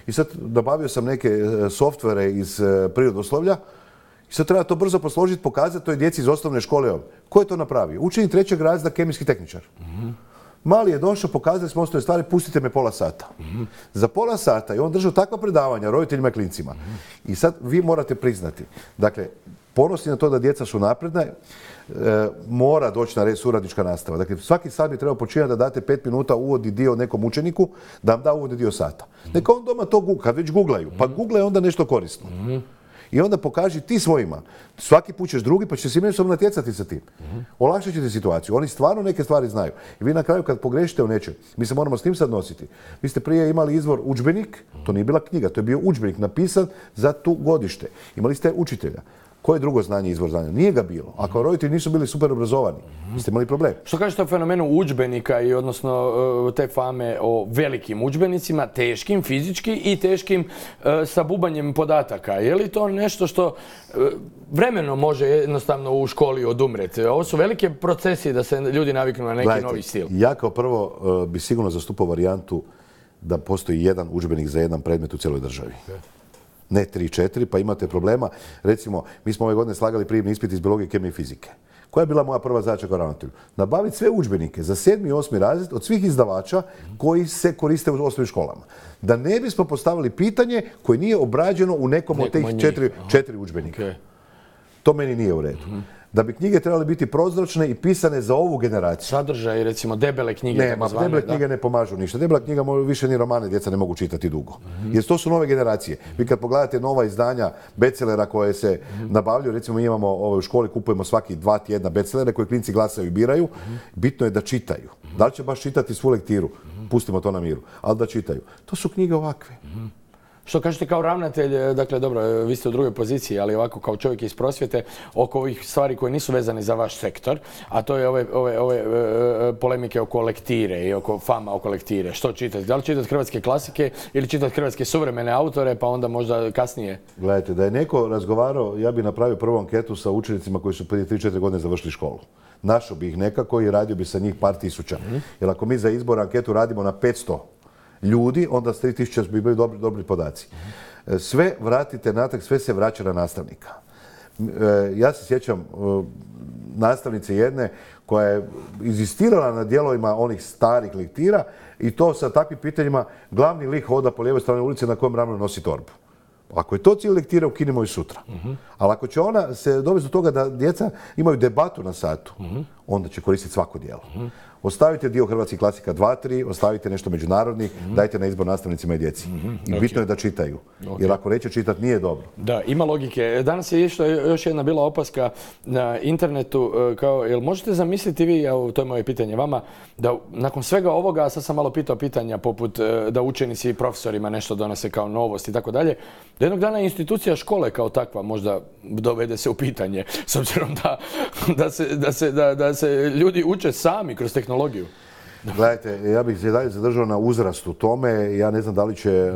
I sad nabavio sam neke softvere iz prirodoslovlja i sad treba to brzo posložiti, pokazati toj djeci iz osnovne škole. Ko je to napravio? Učenik trećeg razreda, kemijski tehničar. Mm-hmm. Mali je došao, pokazali smo osnovne stvari, pustite me pola sata. Mm-hmm. Za pola sata i on držao takva predavanja roditeljima i klincima. Mm-hmm. I sad vi morate priznati, dakle, ponosni na to da djeca su napredna, e, mora doći na red suradnička nastava. Dakle, svaki sat bi trebao počinjati da date pet minuta uvodni dio nekom učeniku, da vam da uvodni dio sata. Mm-hmm. Neka on doma to googlaju, kad već googlaju, pa googlaju onda nešto korisno. Mm-hmm. I onda pokaži ti svojima. Svaki put ćeš drugi, pa ćete se međusobno natjecati sa tim. Mm-hmm. Olakšat ćete situaciju. Oni stvarno neke stvari znaju. I vi na kraju kad pogrešite u nečem, mi se moramo s tim sad nositi. Vi ste prije imali izvor udžbenik, to nije bila knjiga, to je bio udžbenik napisan za tu godište. Imali ste učitelja. Koje drugo znanje izvor znanja? Nije ga bilo. Ako roditelji nisu bili super obrazovani, vi ste imali problem. Što kažete o fenomenu udžbenika i odnosno te fame o velikim udžbenicima, teškim fizički i teškim e, sa bubanjem podataka? Je li to nešto što e, vremeno može jednostavno u školi odumreti? Ovo su velike procesi da se ljudi naviknu na neki Gledajte, novi stil. Ja kao prvo e, bi sigurno zastupao varijantu da postoji jedan udžbenik za jedan predmet u cijeloj državi. Ne tri, četiri, pa imate problema. Recimo, mi smo ove godine slagali prijemni ispit iz biologije, kemije i fizike. Koja je bila moja prva zadaća kao ravnatelju? Nabaviti sve udžbenike za sedmi i osmi razred od svih izdavača koji se koriste u osnovnim školama. Da ne bismo postavili pitanje koje nije obrađeno u nekom od tih četiri, četiri udžbenika. Okay. To meni nije u redu. Mm-hmm. Da bi knjige trebale biti prozračne i pisane za ovu generaciju. Sadržaj, recimo, debele knjige. Ne, ma, debele knjige ne pomažu ništa. Debela knjiga više ni romane djeca ne mogu čitati dugo. Mm-hmm. Jer to su nove generacije. Vi kad pogledate nova izdanja bestsellera koje se mm-hmm. nabavljaju, recimo mi imamo u školi, kupujemo svaki dva tjedna bestsellere koje klinci glasaju i biraju, mm-hmm. bitno je da čitaju. Mm-hmm. Da li će baš čitati svu lektiru? Mm-hmm. Pustimo to na miru. Ali da čitaju. To su knjige ovakve. Mm-hmm. Što kažete kao ravnatelj, dakle dobro, vi ste u drugoj poziciji, ali ovako kao čovjek iz prosvjete, oko ovih stvari koje nisu vezane za vaš sektor, a to je ove, ove, ove e, polemike oko lektire i oko fama oko lektire. Što čitati? Da li čitati hrvatske klasike ili čitati hrvatske suvremene autore, pa onda možda kasnije? Gledajte, da je neko razgovarao, ja bih napravio prvu anketu sa učenicima koji su prije tri četiri godine završili školu. Našao bi ih nekako i radio bi sa njih par tisuća. Mm-hmm. Jer ako mi za izbor anketu radimo na petsto ljudi, onda s tri tisuće bi bili dobri, dobri podaci. Sve vratite natrag, sve se vraća na nastavnika. Ja se sjećam nastavnice jedne koja je inzistirala na dijelovima onih starih lektira i to sa takvim pitanjima glavni lik hoda po lijevoj strani ulice na kojem ramenu nosi torbu. Ako je to cilj lektire, ukinimo i sutra. Uh-huh. Ali ako će ona se dovesti do toga da djeca imaju debatu na satu, uh-huh. onda će koristiti svako djelo. Uh-huh. Ostavite dio hrvatskih klasika dva tri, ostavite nešto međunarodnih, mm-hmm. dajte na izbor nastavnicima i djeci. Mm-hmm. I bitno okay. je da čitaju. Okay. Jer ako neće čitati, nije dobro. Da, ima logike. Danas je išla još jedna bila opaska na internetu. Kao, jel možete zamisliti vi, evo, to je moje pitanje vama, da nakon svega ovoga, sad sam malo pitao pitanja poput da učenici i profesorima nešto donose kao novost i tako dalje, da jednog dana institucija škole kao takva možda dovede se u pitanje, s obzirom da, da, se, da, se, da, da se ljudi uče sami kroz tehnologiju. Gledajte, ja bih se dalje zadržao na uzrastu tome. Ja ne znam da li će e,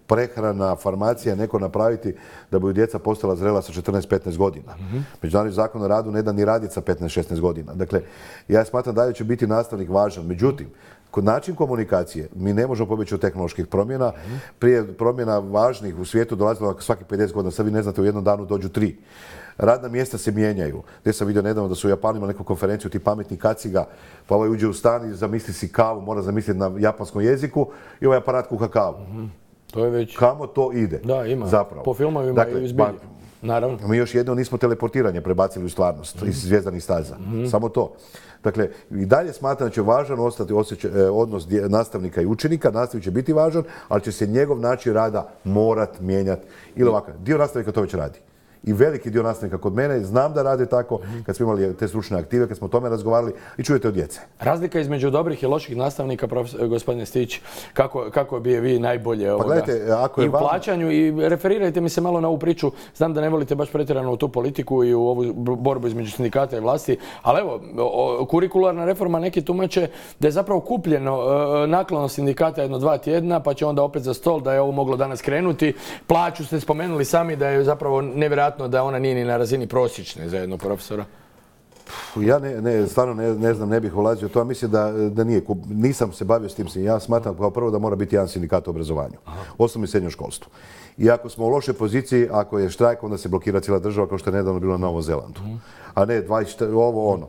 prehrana, farmacija neko napraviti da bi djeca postala zrela sa četrnaest petnaest godina. Mm-hmm. Međunarodni zakon o radu ne da ni raditi sa petnaest šesnaest godina. Dakle, ja smatram da će biti nastavnik važan. Međutim, kod način komunikacije mi ne možemo pobjeći od tehnoloških promjena. Mm-hmm. Prije promjena važnih u svijetu dolazilo svaki pedeset godina. Sad vi ne znate, u jednom danu dođu tri. Radna mjesta se mijenjaju. Gdje sam vidio nedavno da su u Japanu imali neku konferenciju, ti pametni kaciga, pa ovaj uđe u stan i zamisli si kavu, mora zamisliti na japanskom jeziku i ovaj aparat kuha kavu. Mm-hmm. To je već... Kamo to ide? Da, ima. Zapravo. Po filmovima dakle, i zbilji. Naravno. Mi još jedno nismo teleportiranje prebacili u stvarnost mm-hmm. iz zvjezdanih staza. Mm-hmm. Samo to. Dakle, i dalje smatram da će važan ostati osjećaj, odnos nastavnika i učenika. Nastavnik će biti važan, ali će se njegov način rada morat mijenjati. Ili ovako, dio nastavnika to već radi. I veliki dio nastavnika kod mene, znam da rade tako, kad smo imali te stručne aktive, kad smo o tome razgovarali i čujete od djece. Razlika između dobrih i loših nastavnika, gospodine Stić, kako, kako bi je vi najbolje ovoga, pa gledajte, ako je i u plaćanju vam... i referirajte mi se malo na ovu priču, znam da ne volite baš pretjerano u tu politiku i u ovu borbu između sindikata i vlasti, ali evo, o, kurikularna reforma neki tumače da je zapravo kupljeno e, naklonost sindikata jedno dva tjedna, pa će onda opet za stol da je ovo moglo danas krenuti. Plaću ste spomenuli sami da je zapravo nevjerojatno da ona nije ni na razini prosječne za jednog profesora? Ja ne, ne, stvarno ne, ne znam, ne bih ulazio to, a mislim da, da nije, nisam se bavio s tim. Ja smatram kao prvo da mora biti jedan sindikat u obrazovanju, osnovno i srednjem školstvu. I ako smo u lošoj poziciji, ako je štrajk, onda se blokira cijela država kao što je nedavno bilo na Novom Zelandu. A ne dvadeset, ovo ono.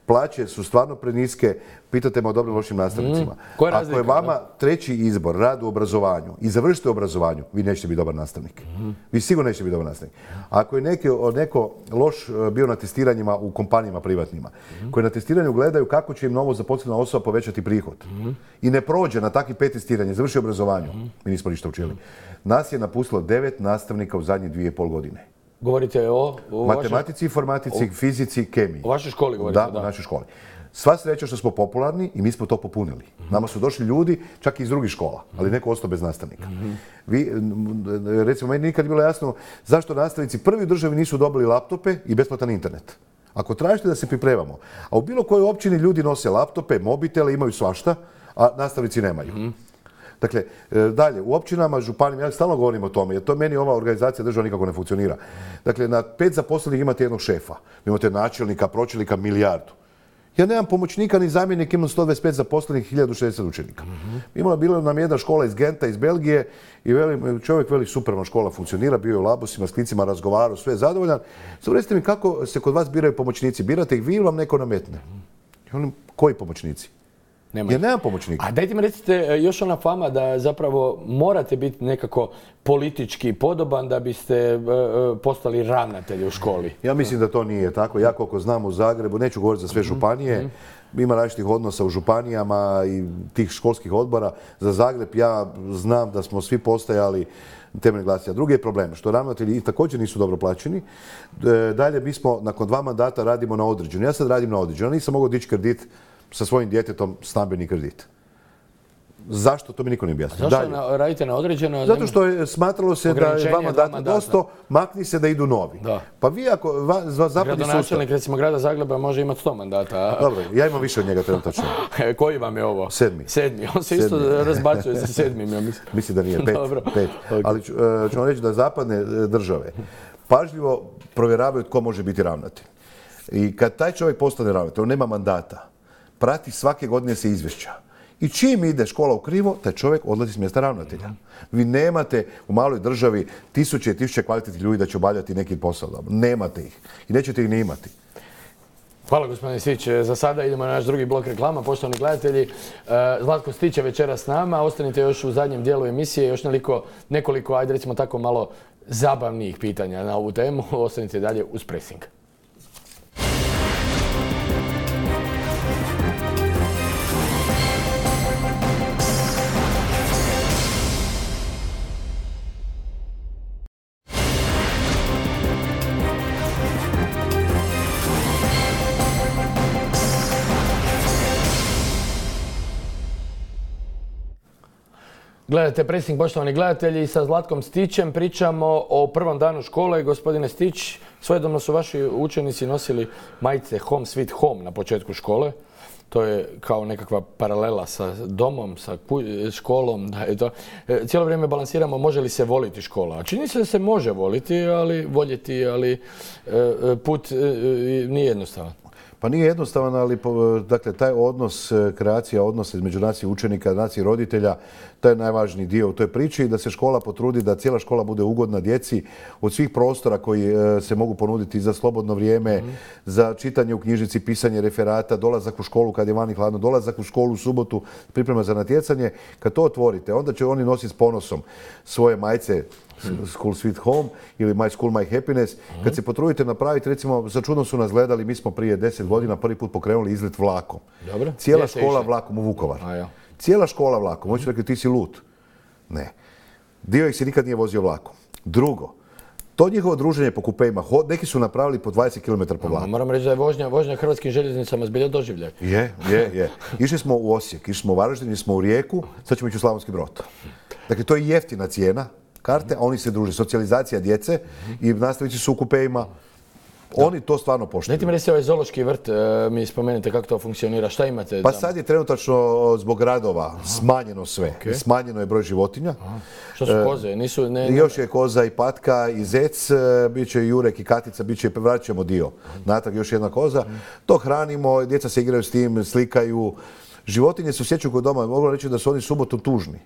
Plaće su stvarno preniske, pitate me o dobrim lošim nastavnicima. Mm. Je razlika, ako je vama da? treći izbor, rad u obrazovanju i završite u obrazovanju, vi nećete biti dobar nastavnik. Mm. Vi sigurno nećete biti dobar nastavnik. Ako je neki, neko loš bio na testiranjima u kompanijama privatnima, mm. koji na testiranju gledaju kako će im novo zaposlena osoba povećati prihod mm. i ne prođe na takvih pet testiranja, završi obrazovanju, mm. mi nismo ništa učili. Nas je napustilo devet nastavnika u zadnje dvije i pol godine. Govorite o... o matematici, vašoj... informatici, o... fizici, kemiji. O vašoj školi govorite, da? Da, o našoj školi. Sva sreća što smo popularni i mi smo to popunili. Mm-hmm. Nama su došli ljudi čak i iz drugih škola, ali neko ostao bez nastavnika. Mm-hmm. Vi, recimo, meni nikad bilo jasno zašto nastavnici prvi u državi nisu dobili laptope i besplatan internet. Ako tražite da se pripremamo, a u bilo kojoj općini ljudi nose laptope, mobitele, imaju svašta, a nastavnici nemaju. Mm-hmm. Dakle, dalje, u općinama, županijama, ja stalno govorim o tome, jer to meni ova organizacija država nikako ne funkcionira. Dakle, na pet zaposlenih imate jednog šefa, imate načelnika, pročelnika, milijardu. Ja nemam pomoćnika ni zamjenika, imam sto dvadeset pet zaposlenih, hiljadu šezdeset učenika. Imala bila nam jedna škola iz Genta, iz Belgije i veli, čovjek veli superna škola funkcionira, bio je u Labusima, s klincima razgovarao, sve je zadovoljan. Samo recite mi kako se kod vas biraju pomoćnici, birate ih vi ili vam neko nametne? I oni, koji pomoćnici? Nema. Jer nema pomoćnika. A dajte mi recite, još ona fama da zapravo morate biti nekako politički podoban da biste uh, postali ravnatelj u školi. Ja mislim da to nije tako. Ja koliko znam u Zagrebu, neću govoriti za sve županije, ima različitih odnosa u županijama i tih školskih odbora. Za Zagreb ja znam da smo svi postajali temeljni glasanja. Drugi je problem što ravnatelji također nisu dobro plaćeni. Dalje, mi smo nakon dva mandata radimo na određeno. Ja sad radim na određeno. Ja nisam mogao dići kredit sa svojim djetetom, stambeni kredit. Zašto? To mi niko ne objasnio. Zašto na, radite na određeno? Zato što je smatralo se da je dva mandata dosta, makni se da idu novi. Da. Pa vi ako va, va, zapadni sustav... Gradonačelnik recimo grada Zagreba može imati sto mandata. Dobro, ja imam više od njega trenutačno. Koji vam je ovo? Sedmi. Sedmi. On se sedmi. Isto razbacuje sa sedmim, ja mislim. Mislim da nije, pet. Dobro. pet. Okay. Ali ću, ću vam reći da zapadne države pažljivo provjeravaju tko može biti ravnatelj. I kad taj čovjek postane ravnatelj, on nema mandata, prati svake godine se izvješća. I čim ide škola u krivo, taj čovjek odlazi s mjesta ravnatelja. Vi nemate u maloj državi tisuće i tisuće kvalitetnih ljudi da će obavljati neki posao. Nemate ih. I nećete ih ni imati. Hvala gospodine Stić. Za sada idemo na naš drugi blok reklama. Poštovani gledatelji, Zlatko Stić je večeras s nama. Ostanite još u zadnjem dijelu emisije. Još nekoliko, nekoliko, ajde recimo tako malo zabavnijih pitanja na ovu temu. Ostanite dalje uz Pressing. Gledajte Pressing, poštovani gledatelji, sa Zlatkom Stićem pričamo o prvom danu škole. Gospodine Stić, svojedobno su vaši učenici nosili majice Home Sweet Home na početku škole. To je kao nekakva paralela sa domom, sa školom. Da je to. Cijelo vrijeme balansiramo može li se voliti škola. A čini se da se može voliti, ali voljeti, ali put nije jednostavan. Pa nije jednostavan, ali dakle, taj odnos, kreacija odnosa između nacije učenika, nacije roditelja, to je najvažniji dio u toj priči i da se škola potrudi da cijela škola bude ugodna djeci od svih prostora koji se mogu ponuditi za slobodno vrijeme, mm. za čitanje u knjižnici, pisanje referata, dolazak u školu kad je vani hladno, dolazak u školu u subotu, priprema za natjecanje. Kad to otvorite, onda će oni nositi s ponosom svoje majice School Sweet Home ili My School My Happiness. Kad se potrudite napraviti, recimo, za čudno su nas gledali, mi smo prije deset godina prvi put pokrenuli izlet vlakom. Dobro. Cijela škola vlakom u Vukovar. A, ja. Cijela škola vlakom. Hoću rekli, ti si lud. Ne. Dio ih se nikad nije vozio vlakom. Drugo, to njihovo druženje po kupejima, neki su napravili po dvadeset kilometara po vlaku. Moram reći da je vožnja, vožnja hrvatskim željeznicama zbilja doživljaj. Je, je, je. Išli smo u Osijek, išli smo u Varaždin, išli smo u Rijeku, sad ćemo ići u Slavonski Brod. Dakle, to je jeftina cijena karte, a oni se druže. Socijalizacija djece i nastavići su u kupejima. Oni to stvarno poštuju. Dajte mi reći ovaj zoološki vrt, mi spomenete kako to funkcionira, šta imate? Pa sad je trenutačno zbog radova smanjeno sve. Okay. Smanjeno je broj životinja. Aha. Što su koze? Nisu, ne, ne... Još je koza i patka i zec, bit će i jurek i katica, bit će, vratit ćemo dio. Natrag još jedna koza. To hranimo, djeca se igraju s tim, slikaju. Životinje se osjećaju kod doma. Mogu reći da su oni subotom tužni.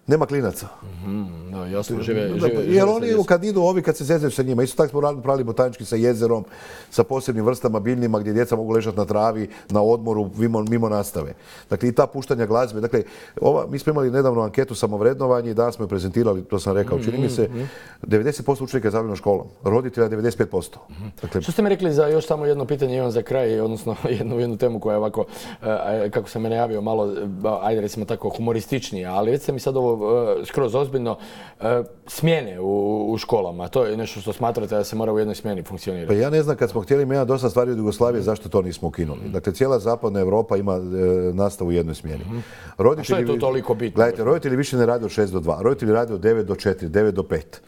Nema klinaca. Mm, no, jasno, žive, žive, žive jer oni kad idu ovi, kad se zezaju sa njima, isto tako smo pravili botanički sa jezerom, sa posebnim vrstama biljnima gdje djeca mogu ležati na travi, na odmoru, mimo, mimo nastave. Dakle, i ta puštanja glazbe. Dakle, ova, mi smo imali nedavno anketu samovrednovanje i danas smo je prezentirali, to sam rekao, čini mi se, devedeset posto učenika je zadovoljno školom, roditelja devedeset pet posto. Dakle, što ste mi rekli za još samo jedno pitanje, imam za kraj, odnosno jednu, jednu temu koja je ovako, kako sam me najavio, malo, ajde recimo tako, humorističnija, ali već ste mi sad ovo skroz ozbiljno, smjene u, u školama. To je nešto što smatrate da se mora u jednoj smjeni funkcionirati. Pa ja ne znam, kad smo htjeli mijenjati dosta stvari od Jugoslavije, zašto to nismo ukinuli. Dakle, cijela zapadna Europa ima e, nastavu u jednoj smjeni. Roditelji, a što je tu toliko bitno? Gledajte, roditelji više ne rade od šest do dva. Roditelji rade od devet do četiri, devet do pet.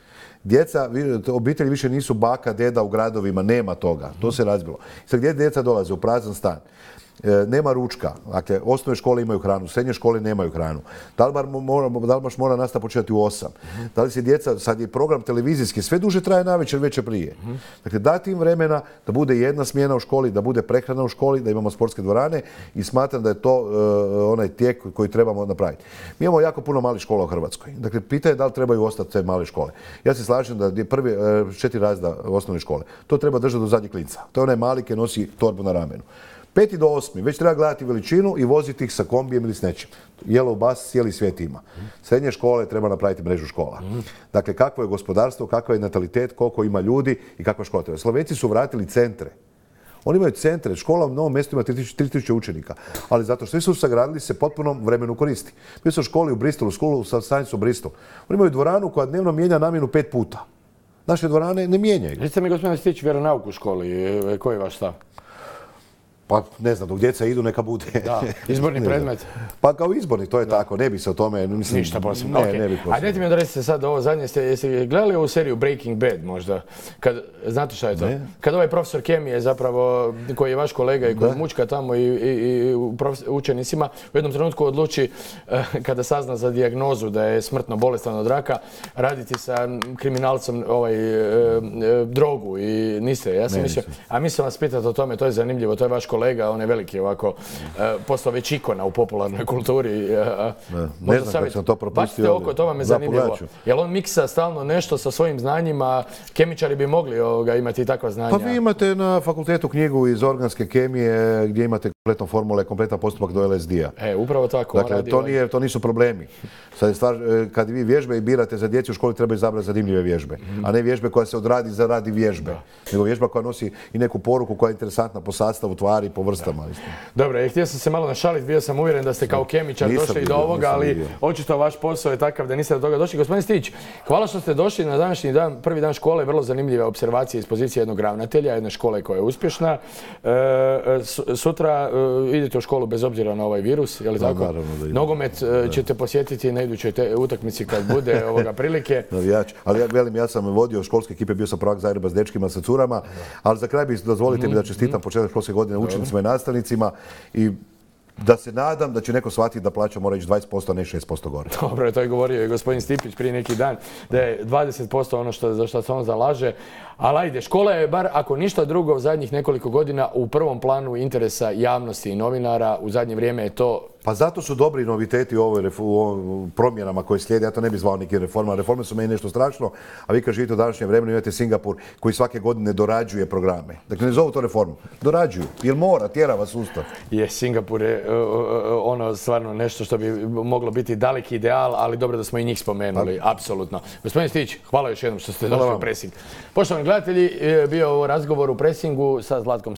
Djeca, obitelji više nisu baka, deda u gradovima, nema toga. To se razbilo. Sad gdje djeca dolaze? U prazan stan. nema ručka. Dakle, osnovne škole imaju hranu, srednje škole nemaju hranu. Da li baš mora nastava početi u osam? Da li se djeca, sad je program televizijski, sve duže traje navečer, večer prije. Dakle, dati im vremena da bude jedna smjena u školi, da bude prehrana u školi, da imamo sportske dvorane i smatram da je to onaj tijek koji trebamo napraviti. Mi imamo jako puno malih škola u Hrvatskoj. Dakle, pitanje je da li trebaju ostati te male škole. Ja se slažem da je prvi četiri razreda osnovne škole. To treba držati do zadnjeg klinca. To je onaj mali koji nosi torbu na ramenu. Peti do osmi, već treba gledati veličinu i voziti ih sa kombijem ili s nečim. Yellow bus cijeli svijet ima. Srednje škole treba napraviti mrežu škola. Dakle, kakvo je gospodarstvo, kakav je natalitet, koliko ima ljudi i kakva škola treba. Slovenci su vratili centre. Oni imaju centre, škola u Novom mjestu ima tri tisuće učenika, ali zato što su sagradili se potpuno vremenu koristi. Bio sam u školi u Bristolu, školu sa Science u Bristolu. Oni imaju dvoranu koja dnevno mijenja namjenu pet puta. Naše dvorane ne mijenjaju. Recite mi, gospodine Stić, vjeronauk u školi, koji je vaš stav? Pa ne znam, dok djeca idu neka bude. Da, izborni predmet. Pa kao izborni, to je tako, ne bi se o tome... Mislim, ništa posebno, ne, okay. ne bi posebno. A dajte mi da recite sad ovo zadnje, ste, jeste gledali ovu seriju Breaking Bad možda? Kad, znate šta je to? Ne. Kad ovaj profesor kemije zapravo, koji je vaš kolega i koji da. mučka tamo i, i, i učenicima, u jednom trenutku odluči, kada sazna za dijagnozu da je smrtno bolestan od raka, raditi sa kriminalcom ovaj, e, e, drogu i niste. Ja sam ne, mislio, a mislim vas pitati o tome, to je zanimljivo, to je vaš kolega, on je veliki ovako, uh, postao već ikona u popularnoj kulturi. Uh, ne, ne znam kako sam to propustio. Bacite oko, to vam je zanimljivo. Jel on miksa stalno nešto sa svojim znanjima? Kemičari bi mogli ovoga, imati takva znanja. Pa vi imate na fakultetu knjigu iz organske kemije gdje imate kompletno formule, kompletan postupak do L S D-a. E, upravo tako. Dakle, to, nije, to nisu problemi. Sad je stvar, kad vi vježbe i birate za djecu u školi, treba izabrati zanimljive vježbe. Mm. A ne vježbe koja se odradi za radi vježbe. Da. Nego vježba koja nosi i neku poruku koja je interesantna po sastavu tvari, po vrstama. Dobro, ja htio sam se malo našaliti, bio sam uvjeren da ste kao kemičar nisam došli bio, do ovoga, ali bio. Očito vaš posao je takav da niste do toga došli. Gospodin Stić, hvala što ste došli na današnji dan, prvi dan škole, vrlo zanimljive observacije iz pozicije jednog ravnatelja, jedne škole koja je uspješna. E, sutra e, idete u školu bez obzira na ovaj virus, je li tako? Da, naravno da idem. Nogomet e, ćete posjetiti na idućoj te, utakmici kad bude ovoga prilike. Navijač, ali ja velim, ja sam vodio školske ekipe, bio sam prvak Zagreba s dečkima, sa curama, ali za kraj bi dozvolite mm-hmm. mi da čestitam početak školske godine učenicima i nastavnicima i da se nadam da će neko shvatiti da plaća mora ići dvadeset posto, a ne šest posto gore. Dobro, to je govorio i gospodin Stipić prije neki dan, da je dvadeset posto ono što, za što se on zalaže. Ali ajde, škola je bar, ako ništa drugo, u zadnjih nekoliko godina u prvom planu interesa javnosti i novinara. U zadnje vrijeme je to... Pa zato su dobri noviteti u ovoj promjenama koje slijede. Ja to ne bih zvao neki reforma. Reforme su meni nešto strašno, a vi kad živite u današnjem vremenu imate Singapur koji svake godine dorađuje programe. Dakle, ne zovu to reformu. Dorađuju. Jer mora, tjerava sustav. Je, Singapur je ono stvarno nešto što bi moglo biti daleki ideal, ali dobro da smo i njih spomenuli. Pa. Apsolutno. Gospodin Stić, hvala još jednom što ste došli u Pressing. Poštovani gledatelji, bio ovo razgovor u Pressingu sa Zlatkom